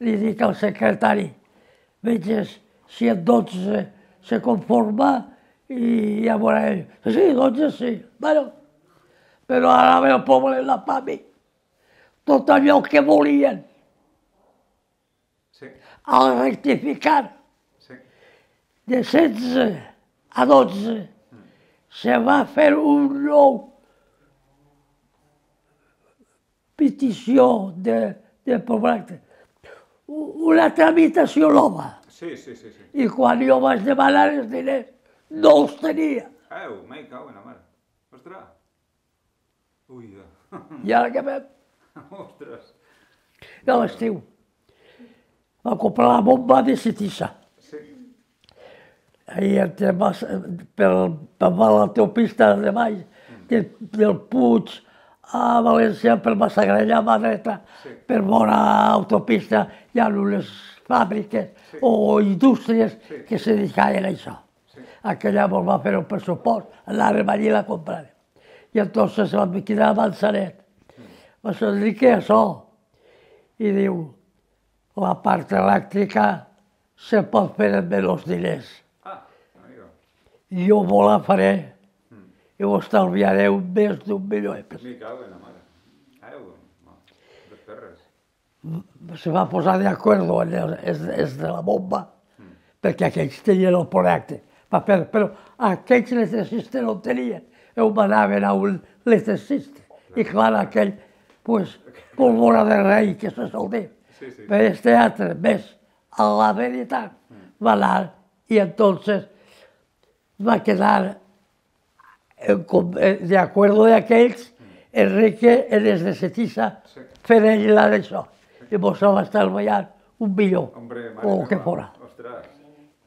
li dic al secretari, veges si en dotze se conforma i ja veurà ell. Sí, dotze sí. Bueno, però ara ve el poble la pa mi. tot allò que volien. Sí. Al rectificar Sí. de setze a dotze se va fer un nou petició de, de projecte, una tramitació nova. Sí, sí, sí, sí. I quan jo vaig demanar els diners, no els tenia. Au, me cago en la mare. Ostres. Ui, ja. I ara què fem? Ostres. A l'estiu va comprar la bomba de Citissa. Sí. I entre, per, per l'autopista de baix, de, del Puig a València, per Massagrella, a mà dreta, Sí. per bona autopista, hi ha unes fàbriques Sí. o indústries Sí. que se dedicaven a això. Sí. Aquella ens va fer un pressupost, anàrem allí i la compràrem. I entonces vam quedar a Manzanet. Va dir, què és això? I diu, la part elèctrica se pot fer amb menys diners. Ah, amigo. Jo me la faré i ho estalviareu més d'un milió d'euros. Me cago en la mare. Au, no. De terres. Se va posar d'acord en el, és, és de la bomba, perquè aquells tenien el projecte. Va fer, però aquells electricistes no el tenien. Ells anaven a un electricista. I clar, aquell, pues, pólvora de rei, que se sol dir. Sí, sí. Però este altre, més, a la veritat, va anar i entonces va quedar en com- eh, de acuerdo de aquells, Enrique, en els de Cetissa, Sí. fent ell la d'això. I mos va estar ballant un milió, Hombre, mare o el que meva. fora. Ostres.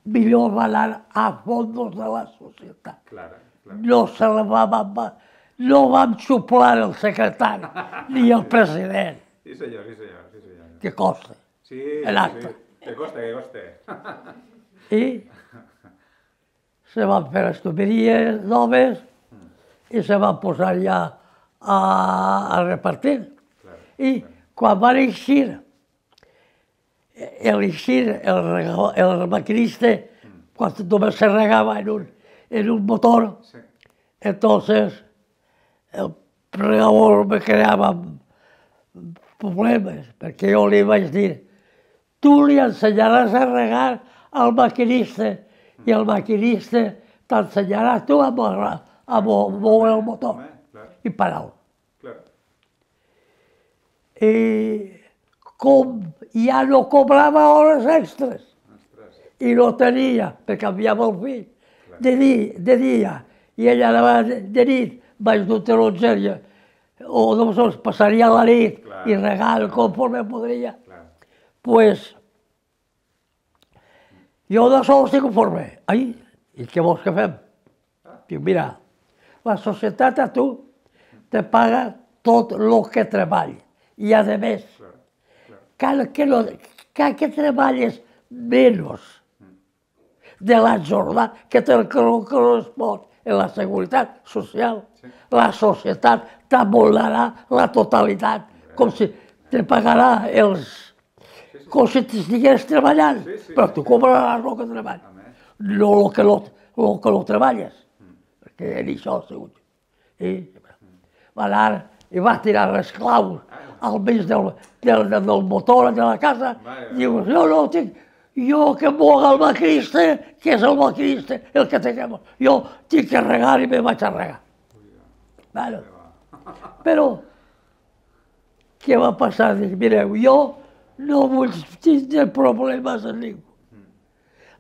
Milió va anar a fondos de la societat. Clara, clara. No se la va, va, va no vam xuplar el secretari, ni el president, Sí, senyor, sí, senyor, sí, senyor. que costa. Sí, El sí, acte. sí. Que coste, que coste. I se van fer les tuberies noves i se van posar ja a, a repartir. Claro, I quan van eixir, el eixir, el, rega- el maquinista, quan només se regava en un, en un motor, Sí. entonces el regador me creava problemes, perquè jo li vaig dir, tu li ensenyaràs a regar al maquinista i el maquinista t'ensenyarà tu a moure, a mo- moure el motor Home, clar, i parar-lo. clar. I com ja no cobrava hores extres Ostres. i no tenia, perquè enviava el fill de, di, de dia i ella anava de, de nit, vaig d'un taronger, o doncs passaria la nit Clar. i regar conforme podria. Clar. Pues jo de sol estic conforme. Ai, i què vols que fem? Dic, mira, la societat a tu te paga tot el que treball. I a més, Clar, clar. cal que, no, cal que treballes menys de la jornada que te correspon en la seguretat social. Sí. La societat t'abolarà la totalitat, com si te pagarà els... com si t'estigués treballant, Sí, sí, però sí, tu sí. cobraràs el que treballes, Home. no el que no, el que no treballes, perquè en això ha sigut. I va anar i va tirar les claus al mig del, del, del motor de la casa, Vaja. diu, jo no tinc, jo que moga el maquinista, que és el maquinista el que té que moure. Jo tinc que regar i me vaig a regar. Bueno, però, què va passar? Dic, mireu, jo no vull tindre problemes amb ningú.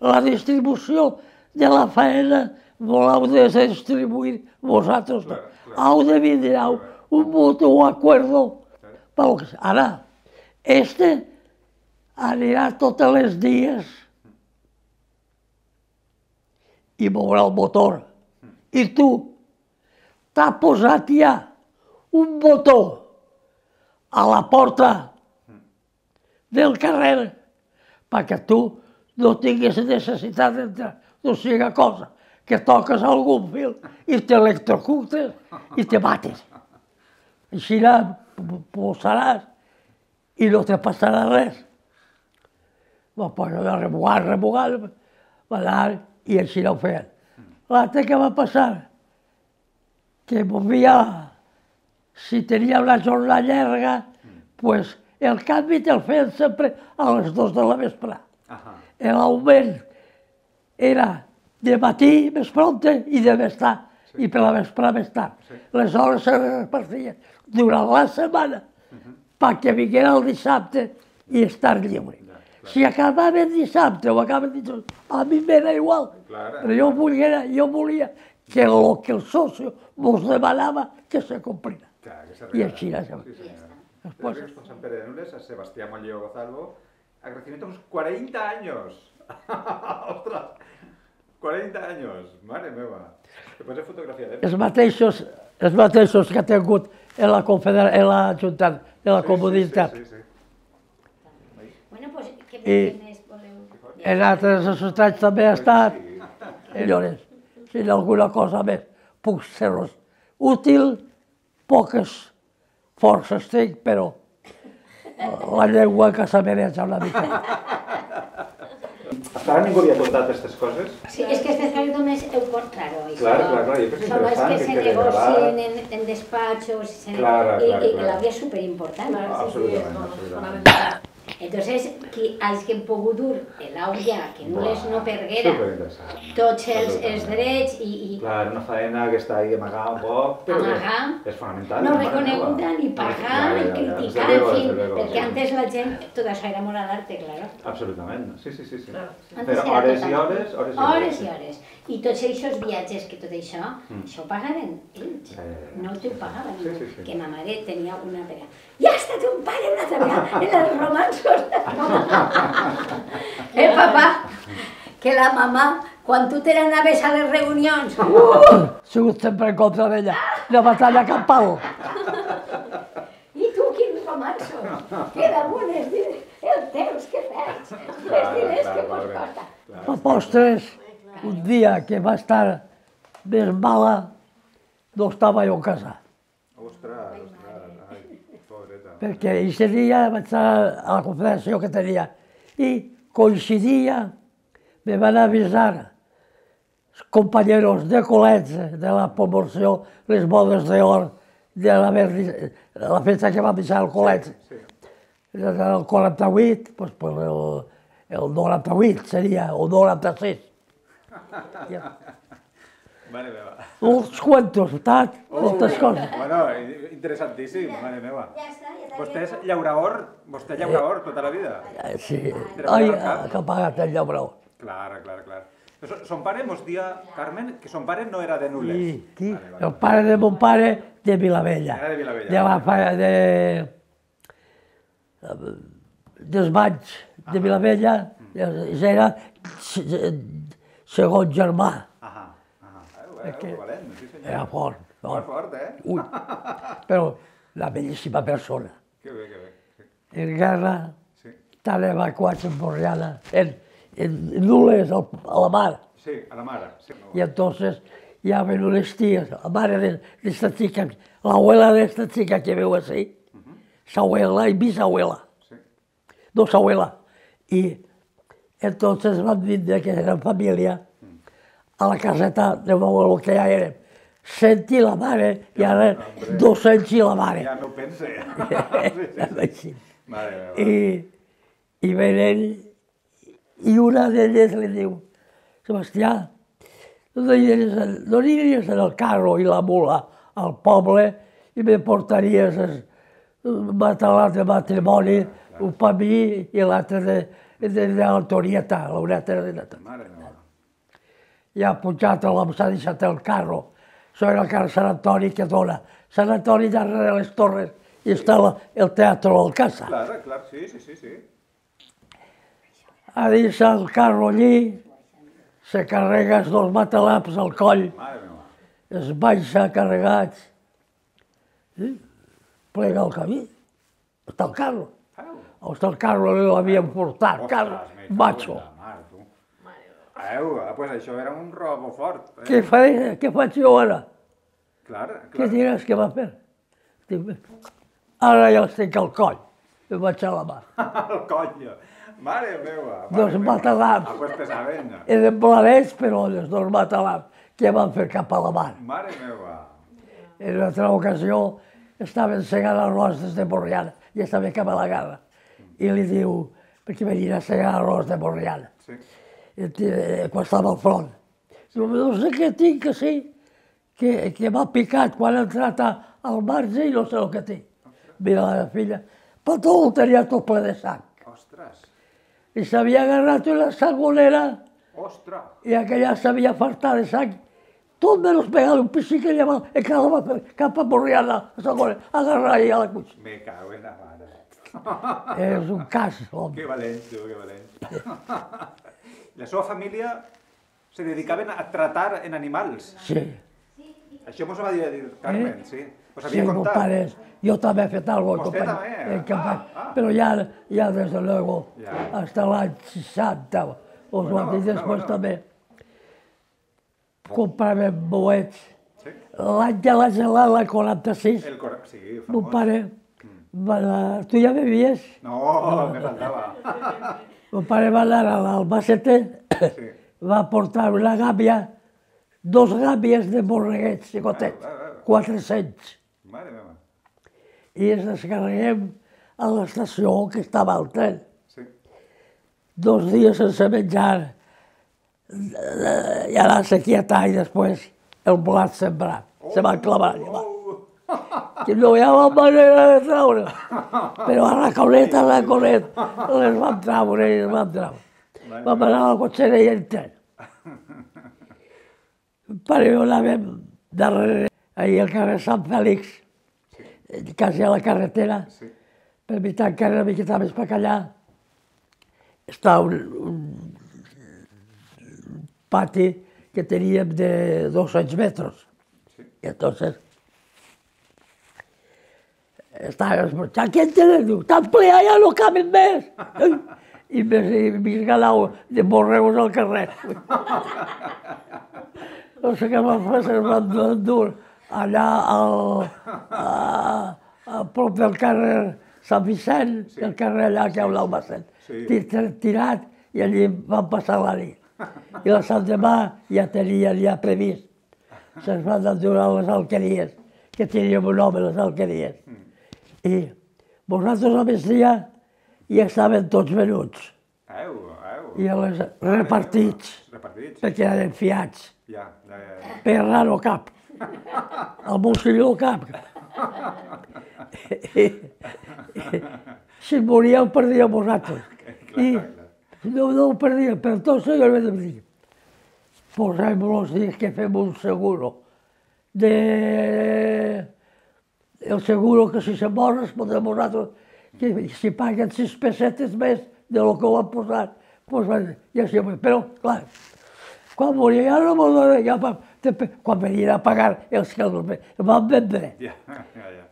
La distribució de la feina voleu de distribuir vosaltres. Clar, clar. Heu de vindre un mutuo acuerdo. Pel que- Ara, este anirà tots els dies i mourà el motor. I tu t'ha posat ja un botó a la porta del carrer perquè tu no tinguis necessitat d'entrar. No siga cosa que toques algun fil i t'electrocutes i te mates. Així posaràs i no te passarà res. Va posar a remugar, remugar, va anar i així no ho feien. L'altre que va passar, que movia, si tenia una jornada llarga, pues, el canvi te'l feien sempre a les dues de la vespre. Ajá. L'augment era de matí més prompte i de més tard, i per la vespre més tard. Les hores se repartien durant la setmana perquè vinguera el dissabte i estar lliure. Si acabava el dissabte o acabava el dissabte, a mi m'era igual, però jo volia, jo volia que el que el socio mos demanava que se complira. I així era. Después, con San Pere de Nules, a Sebastián Molleo Gozalvo, agradecimiento a unos cuarenta años. ¡Ostras! cuarenta años, mare meva. Després de fotografia, eh? Els mateixos, els mateixos que ha tingut en la confederació, en la Junta, en la comunitat. Sí, sí, sí. Bueno, pues, què més voleu? En altres societats també ha estat. Senyores, si hi ha alguna cosa més puc ser-vos útil, poques forces tinc, però la llengua que s'ameneja una mica. Fins ara ningú havia contat aquestes coses? Sí, és que aquestes coses només heu contat, claro. Claro, claro, claro, yo creo que es Son las interesante que se que quede negocien grabado. en, en despachos y, se, Claro, y, claro, y claro. la vida es súper importante. Absolutament, absolutament. Entonces, qui, els que hem pogut dur l'aulla, que no les no perguera, Superinteressant. tots els, els drets i, i Clar, una faena que està ahí amagada un poc, però que Amagar. és fonamental. no mare reconeguda, meva. ni pagar, Ja, ni ja, ja, criticar, desde en luego, fin, desde luego, perquè sí. antes la gent, tot això era amor a l'arte, claro. Absolutament, sí, sí, sí. sí. Antes Però era hores tot i amor. hores, hores i hores. Hores i hores. I tots aquests viatges, que tot això, això ho pagaven ells. Ja, ja, ja. No t'ho pagaven Sí, ningú. sí, sí. Que ma mare tenia una vegada. Ja està ton pare una altra vegada en els romansos. Eh, papà? Que la mamà, quan tu te n'anaves a les reunions... Uh! He sigut sempre en contra d'ella. La batalla campal. I tu, quins romansos? Que damunt els diners, els teus, què fas? Els diners que pots costar. A postres, un dia que va estar més mala, no estava jo a casa. Ostres, ostres, ai, pobreta. Perquè aquest dia vaig estar a la confederació que tenia i coincidia, me van avisar els companyeros de col·legi de la promoció, les bodes d'or, de la, de la festa que vam deixar al col·legi. El quaranta-vuit, doncs, pues el, el noranta-vuit seria, o noranta-sis. Mare meva. Uns quantos, tant, moltes coses. Bueno, interessantíssim, mare meva. Ja està, ja està. Vostè és llaurador, vostè llaurador tota la vida. Sí, ai, que ha pagat el llauró. Clar, clar, clar. Son- Son pare mos dia, Carmen, que son pare no era de Nules. I, qui? Vale, vale. El pare de mon pare de Vilavella. Era de Vilavella. De la fa- de... dels Banys de Vilavella, ja era se- segon germà. Ahà, ahà. Eh, eh, valent, sí senyor. Era fort, Molt fort. fort, eh? Ui, però una bellíssima persona. Que bé, que bé. Sí. En guerra, Sí, estan evacuats en Borriana, en, en Nules, al- a la mar. sí, a la mare. Sí. Y entonces ya ven unas tías, la madre de, de esta chica, la abuela de esta chica que veo así, su abuela y bisabuela, Sí. dos abuelas. Y entonces van de que eran familia a la caseta de mi abuelo que ya era. Senti la mare y ahora dos anys i la mare. Ja no ho pense. Sí, sí, sí. Sí. Mare meva. I, i venen, i una d'elles li diu, Sebastià, no aniries, no aniries en el carro i la mula al poble i me portaries el matalat de matrimoni, un per mi i l'altre de, de, de l'Antonieta, l'Aureta de Neta. Mare meva. I ha pujat, s'ha deixat el carro. Això era el carrer Sant Antoni que dona. Sant Antoni darrere les torres i està la, el teatre Alcázar. Clar, clar, sí, sí, sí, sí. Ha deixat el carro allí, se carrega els dos matalams al coll, Mare meva. es baixa carregats, i plega el camí. Està el carro. Au. Està el carro, l'havien portat, carro, Ostres, me cago en macho. la mar, tu. Au, ah, pues això era un robo fort. Eh? Què faré, què faig jo ara? Clar, Què clar. diràs que va fer? Dic, ara ja els tinc al coll. I vaig a la mà. El coño. Mare meva. mare Dos meva. matalams. Ah, pues pesaven. Eren blanets, però els dos matalams que van fer cap a la mar. Mare meva. En una altra ocasió estaven segant arròs des de Borriana, ja sabia que me la guerra. I li diu, perquè venia a segar arròs de Borriana, Sí. quan estava al front. Diu, no sé què tinc, que sí, que, que m'ha picat quan ha entrat al marge i no sé el que tinc. Mira la meva filla, però tot ho tenia tot ple de sang. Ostres, I s'havia agarrat una sangonera ostres. i aquella s'havia fartat de sang. Tot menys pegar un pessic que lleva i quedava cap a Borriana, a sangonera, agarrar i a la cuixa. Me cago en la mare. És un cas, Que home. valent, tu, que valent. La seva família se dedicaven a tratar en animals. Sí. Això mos ho va dir Carmen, sí. Us Sí, havia mon contat. pare, yo también he fet algo. Usted compañero, también. en campaña. Ah, ah. Pero ya, ya desde luego, Ya. hasta el año sesenta, o Bueno, bueno, y después bueno. también, comprava boets. Sí? L'any de la gelada, el quaranta-sis, El cor... Sí, mon famós. pare, va anar, tu ja bevies? No, me faltava. Mon pare va anar a l'Albacete, Sí. va portar una gàbia, dos gàbies de borreguets xicotets, Ah, ah, ah. quatre-cents. Mare meva. I ens descarreguem a l'estació que estava al tren. Sí. Dos dies sense menjar, eh, i anar-se quietar i després el blat sembrat. Se va clavar allà. Oh. Que no hi havia manera de treure. Però a raconet, a raconet, les vam treure i les vam treure. Vam anar a la cotxera i el tren. El pare i jo anàvem darrere, ahir al carrer Sant Fèlix, quasi a la carretera, Sí. per evitar encara una miqueta més per allà, està un, un pati que teníem de dos-cents metres. Sí. I entonces estava esmorzant, què en tenen? Diu, tan ple, ja no caben més. I més, més galau de borregos al carrer. No sé què va fer, se'ns van endur allà al, a, a prop del carrer Sant Vicent, Sí. el carrer allà que hi ha un Albacete. Sí. Tir- Tirat, i allí van passar la nit. I la Sant demà ja tenien ja previst. Se'ns van endur a les alqueries, que teníem un home, les alqueries. I vosaltres a migdia ja estaven tots venuts, Au, au. i les repartits, Repartits. perquè eren fiats. Ja, ja, ja. Perra no cap. El Montsilló cap. I, i, si moríeu, perdíeu vosaltres. I no, no ho perdíem, per tot això jo li vaig dir, posem los dies que fem un seguro. De... El seguro que si se mor respondrem vosaltres que si paguen sis pessetes més de lo que ho han posat. Pues, ja sí, però, clar, quan moria ja no m'ho donen, ja, va- te- quan venien a pagar els que els van vendre, Ja, ja, ja.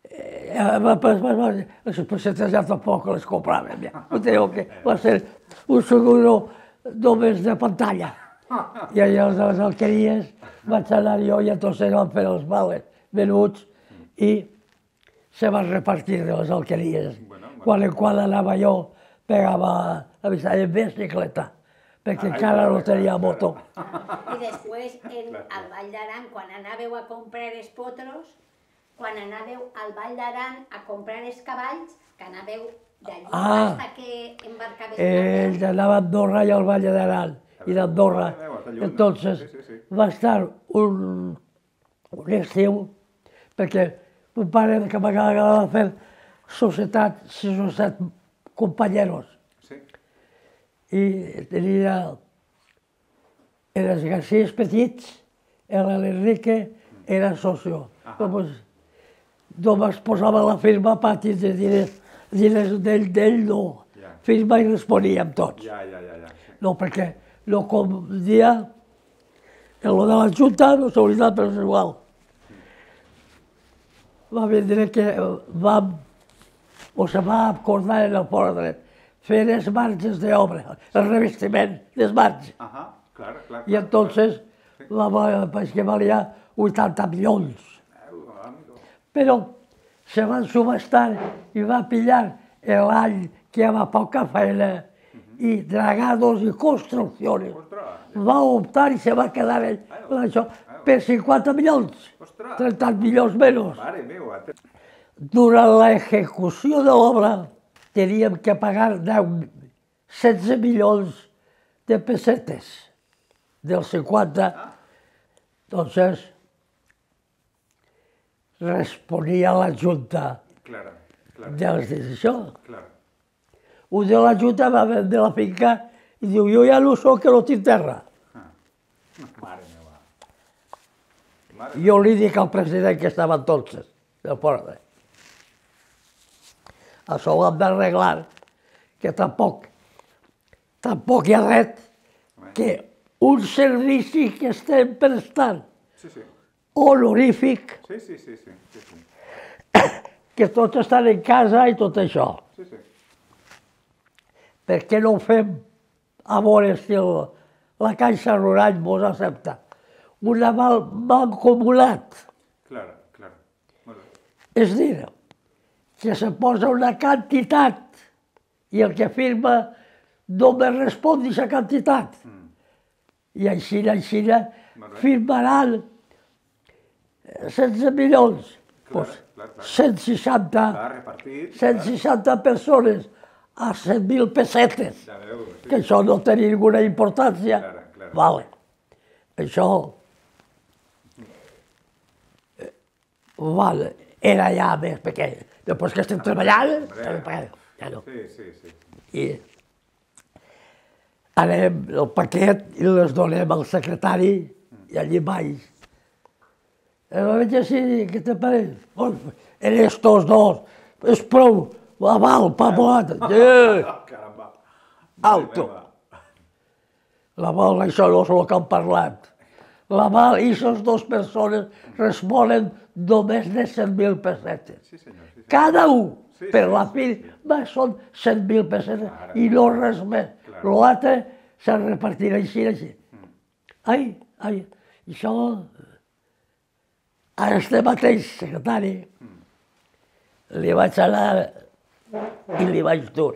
eh, va- pues, va- va- les pessetes ja tampoc les compràvem. Ja. Ho teniu que va ser un seguro només de pantalla. I allà les, les alqueries vaig anar jo i entonces van fer els vales venuts i se van repartir de les alqueries. Bueno, bueno. Quan en quan anava jo, pegava la bicicleta en bicicleta, perquè Ai, encara clar, no clar, tenia clar. moto. I després, en, al Vall d'Aran, quan anàveu a comprar els potros, quan anàveu al Vall d'Aran a comprar els cavalls, que anàveu d'allí Ah. hasta que embarcaveu Ell anava a Andorra i al Valle d'Aran, i d'Andorra. Mare meva, està lluny, no? Entonces, Sí, sí, sí. va estar un, un estiu, perquè un pare que m'agradava fer societat, sis o set companyeros, Sí. i tenia els Garcís petits, l'Enrique era socio. Doncs, només posava la firma pati de diners, diners d'ell, d'ell no. Ja. Firma i responíem tots. Ja, ja, ja, ja. Sí. No, perquè no com un dia, en lo de la Junta no s'ha oblidat, però és igual. Va vindre que vam, o se va acordar en el fora dret, fer els marges d'obra, el revestiment dels marges. Ajá, claro, claro. I entonces va, va, pues que valia vuitanta milions. Au, amigo. Però se van subestar i va pillar l'any que hi havia poca feina i dragados i construccions. Ostras, Va optar i se va quedar ell amb això per cinquanta milions, ostras. trenta milions menys. Mare meva. te- durant l'execució de l'obra teníem que pagar setze milions de pessetes dels cinquanta. Entonces, responia la Junta de les decisions. Un de la Junta va vendre la finca i diu, jo ja no soc, que no tinc terra. Jo li dic al president que estava entonces, del poble. Això ho hem d'arreglar, que tampoc, tampoc hi ha res que un servici que estem prestant honorífic, que tots estan en casa i tot això. Per què no ho fem a veure si la Caixa Rural mos accepta? Un aval mancomunat. És a dir, que se posa una quantitat i el que firma només respon d'aquesta quantitat. I així, així, firmaran setze milions. cent seixanta persones a cent mil pessetes, que això no té ninguna importància. Vale. Això vale. Era ja més pequeñ. Després que estem treballant, ja no. I anem el paquet i les donem al secretari i allí baix. Va veig així, què te pareix? En estos dos, és prou, aval, papolat. Alto. L'aval, això no és el que han parlat. L'aval i aquestes dues persones responen només de cent mil pessetes. Cada un, per la firma, són cent mil pessetes i no res més. L'altre se'n repartirà així, així. Ai, ai, això... A este mateix secretari li vaig anar i li vaig dur.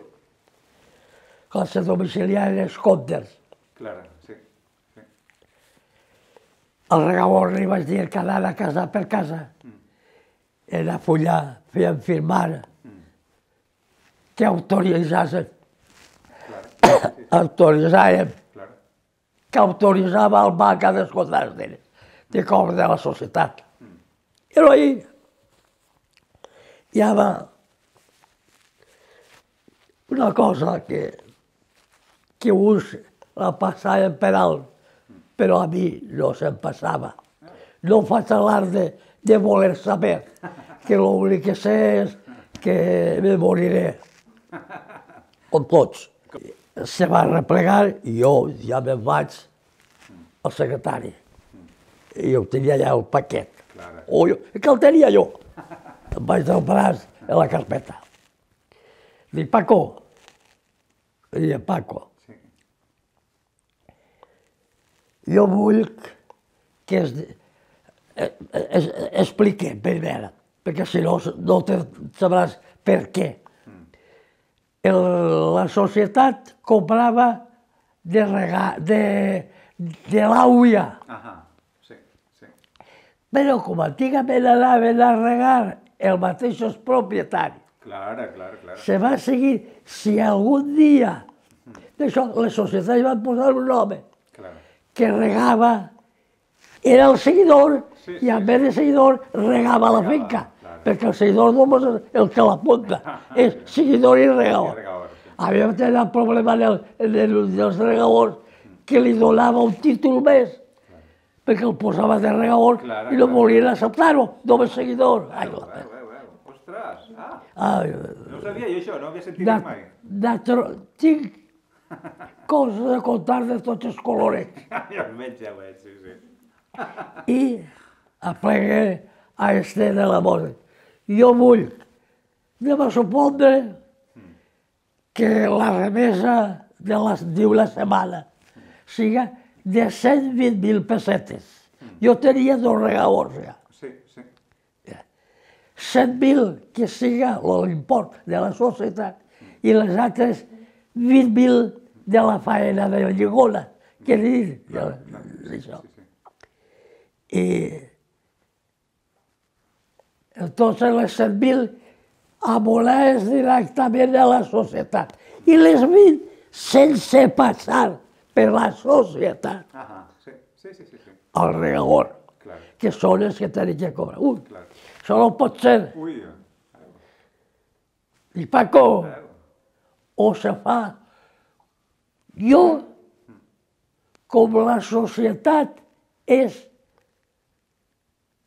Quan se domiciliaren els comptes. Al regabor li vaig dir que anava casa per casa. Era fullar, feien firmar que autoritzassen. Autoritzàvem que autoritzava el banc a descomptar de cobra de la societat. Però ahí hi havia una cosa que, que uns la passaven per alt, però a mi no se'm passava. No faig alarde de voler saber, que l'únic que sé és que me moriré. Com tots. Se va replegar i jo ja me'n vaig al secretari. I jo tenia allà el paquet. O jo, que el tenia jo. Em vaig del braç a la carpeta. Dic, Paco. Dic, Paco. Jo vull que es, es, es, expliqui primer, perquè si no, no te sabràs per què. El, la societat comprava de, rega, de, de l'auia. Però com antigament anaven a regar els mateixos propietaris, se va seguir, si algun dia, d'això, les societats van posar un home que regava, era el seguidor, i en vez de seguidor regava la finca, perquè el seguidor només és el que l'apunta, és seguidor i regador. Havíem tingut el problema dels regadors que li donava un títol més, perquè el posava de regador i no volien acceptar-ho, només seguidor. Ostres! No sabia jo això, no havia sentit mai. Tinc coses a contar de tots els colorets. Ja ho veig, ja ho veig, sí, sí. I aplegué a este de la moda. Jo vull, anem a supondre que la remesa d'una setmana siga de cent vint mil pessetes. Jo tenia dos regadors ja. Sí, sí. cent mil que siga l'import de la societat i les altres vint mil de la faena de la lligona, que dir d'això. I Entonces les cent mil abonaves directament a la societat i les vint sense passar per la societat. Ajá, sí, sí, sí, sí. sí. Al regador, Claro. que són els que tenen que cobrar. Ui, Claro. això no pot ser. Uy, I Paco, claro. o se fa. Jo, com la societat és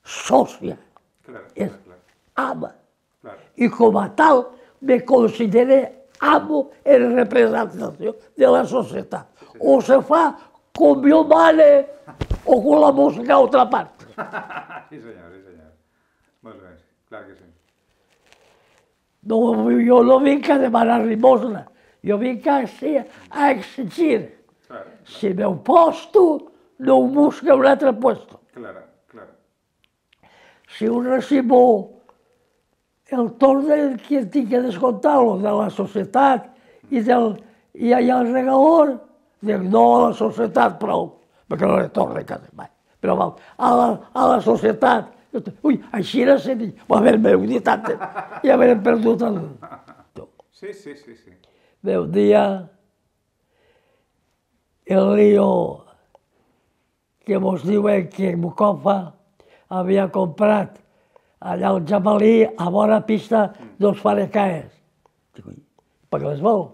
sòcia, Claro, és claro, claro. ama, Claro. i com a tal me considere amo en representació de la societat. O se fa com jo mane o com la música a altra part. Sí, senyor, sí, senyor. Molt bé, clar que sí. No, jo no vinc a demanar limosna, jo vinc a, a exigir. Claro, Si meu posto, no ho busca un altre puesto. claro, claro. Si un recibo el torn del que tinc que descomptar-lo de la societat i, del, i allà al regador, dic no a la societat prou, perquè no li torna quasi mai. Però va, a la, a la societat, ui, així era ser dit, va haver meu dit antes, ja haurem perdut el... Sí, sí, sí, sí. Meu dia, el lío que mos diuen que Mucofa havia comprat allà al Jamalí, a bona pista, dos farecaes. Dic, ui, per què les vol?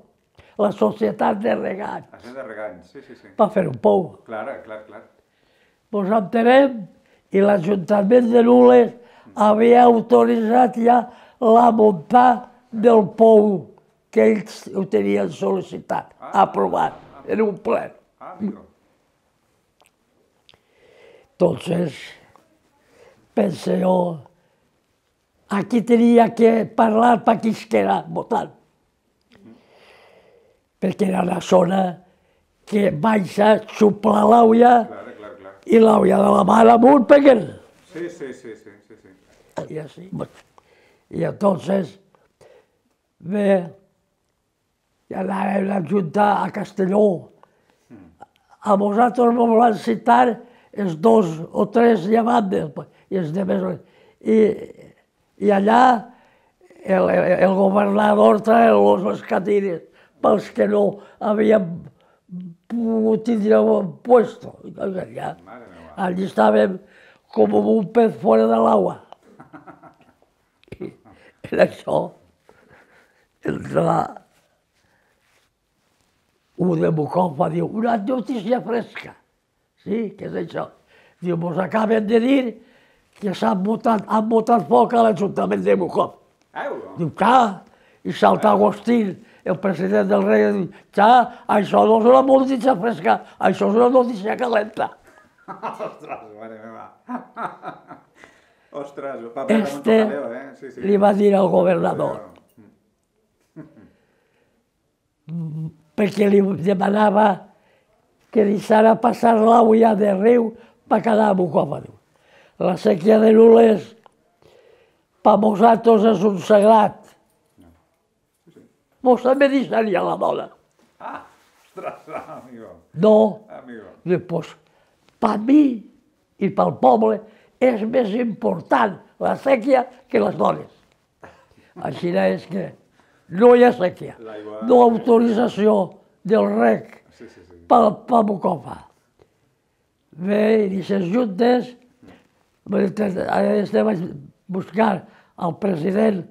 La societat de regant, Hacen de regany, sí, sí, sí. va fer un pou. Claro, clar, clar. Mos entenem i l'Ajuntament de Nules havia autoritzat ja la muntar del pou que ells ho tenien sol·licitat, aprovat, en un ple. Ah, amigo. Entonces, pensé yo, aquí tenía que parlar para Quisquera, votant. Perquè era una zona que baixa, xupla l'aulla Claro, claro, claro. i l'aulla de la mar amunt peguen. Sí, sí, sí, sí, sí, sí. Y así. Bueno, y entonces, ve, ja anàvem a juntar a Castelló. A vosaltres me van citar els dos o tres llevantes, i els demés. I, i allà el, el governador traia les catires pels que no havien pogut tindre un puesto. Allà, Mare meva. allí estàvem com un pez fora de l'aigua. I en això, entra un de Mucofa, diu, una notícia fresca. Sí, què és això? Diu, mos acaben de dir que s'han botat, han botat foc a l'Ajuntament de Mucofa. Au! Diu, clar, i salta Agustín, el president del rei, i diu, clar, això no és una notícia fresca, això és una notícia calenta. Ostres, mare meva. Ostres, el paper de Este Montojaleo, eh? Sí, sí. li va dir al governador, perquè li demanava que deixara passar l'aulla de riu per quedar a Mucofa. La sèquia de Nules, per nosaltres és un sagrat. Mos també deixaria la dona. Ah, ostres, amigo. No, Amigo. dic, pues, per mi i pel poble és més important la sèquia que les dones. Així és que no hi ha sèquia, L'aigua- no autorització del rec Sí, sí, sí. per, per Mucofa. Bé, i les juntes, estem a buscar el president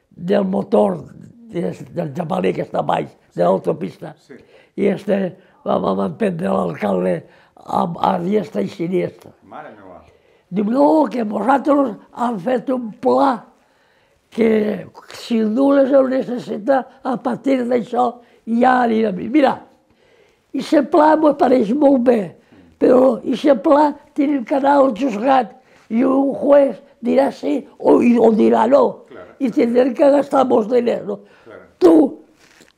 del motor des- del Jamalí, que està baix, de l'autopista, Sí. i este vam emprendre l'alcalde a, a diestra i siniestra. Mare meva. Diu, no, que vosaltres han fet un pla que si Nules el necessita, a partir d'això ja anirem. Mira, i aquest pla m'ho pareix molt bé, però aquest pla tenim que anar al juzgat i un juez dirà sí o, o dirà no. Claro. I tindrem que gastar molts diners. No? Claro. Tu,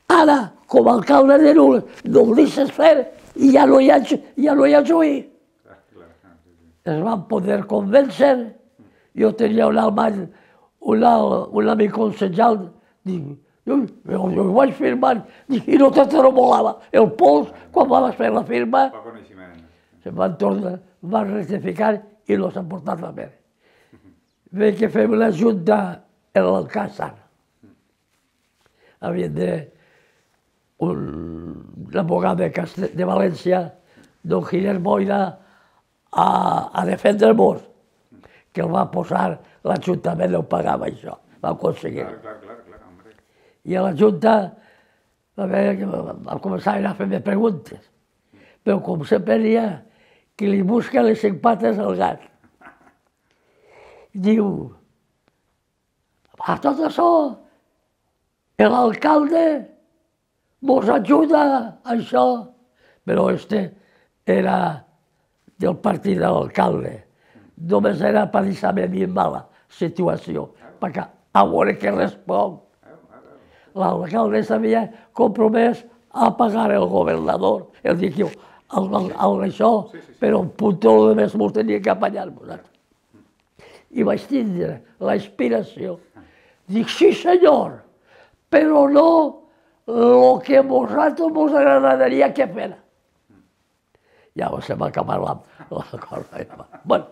ara, com a alcalde de Nules, no ho deixes fer i ja no hi ha, ja no hi ha juí. Clar, clar. Ah, sí, sí. Es van poder convèncer. Jo tenia un alemany, un, al- un amic concejal, dic, jo, jo, jo ho vaig firmar, dic, i no te tremolava el pols quan vas fer la firma, Poc coneixement. se van tornar, van rectificar i no s'ha portat la mer. ve que fem la junta en l'Alcázar. Havien de... un abogado de, Castel, de València, don Giner Boira, a, a defendre el mos, que el va posar, l'Ajuntament no pagava això, va aconseguir. Clar, clar, clar, clar, hombre. I a la Junta va veure que vam començar a fer-me preguntes, però com sempre n'hi ha que li busca les cinc pates al gat. Diu, a tot això, l'alcalde mos ajuda a això, però este era del partit de l'alcalde. Només era per deixar-me a mi en mala situació, perquè a veure què respon. L'alcalde s'havia compromès a pagar el governador, el diu, això, però un puntó de més mos tenia que apanyar-nos. I vaig tindre l'inspiració. Dic, sí senyor, però no el que a vosaltres us agradaria que fera. Llavors se m'ha acabat la cosa. Bueno,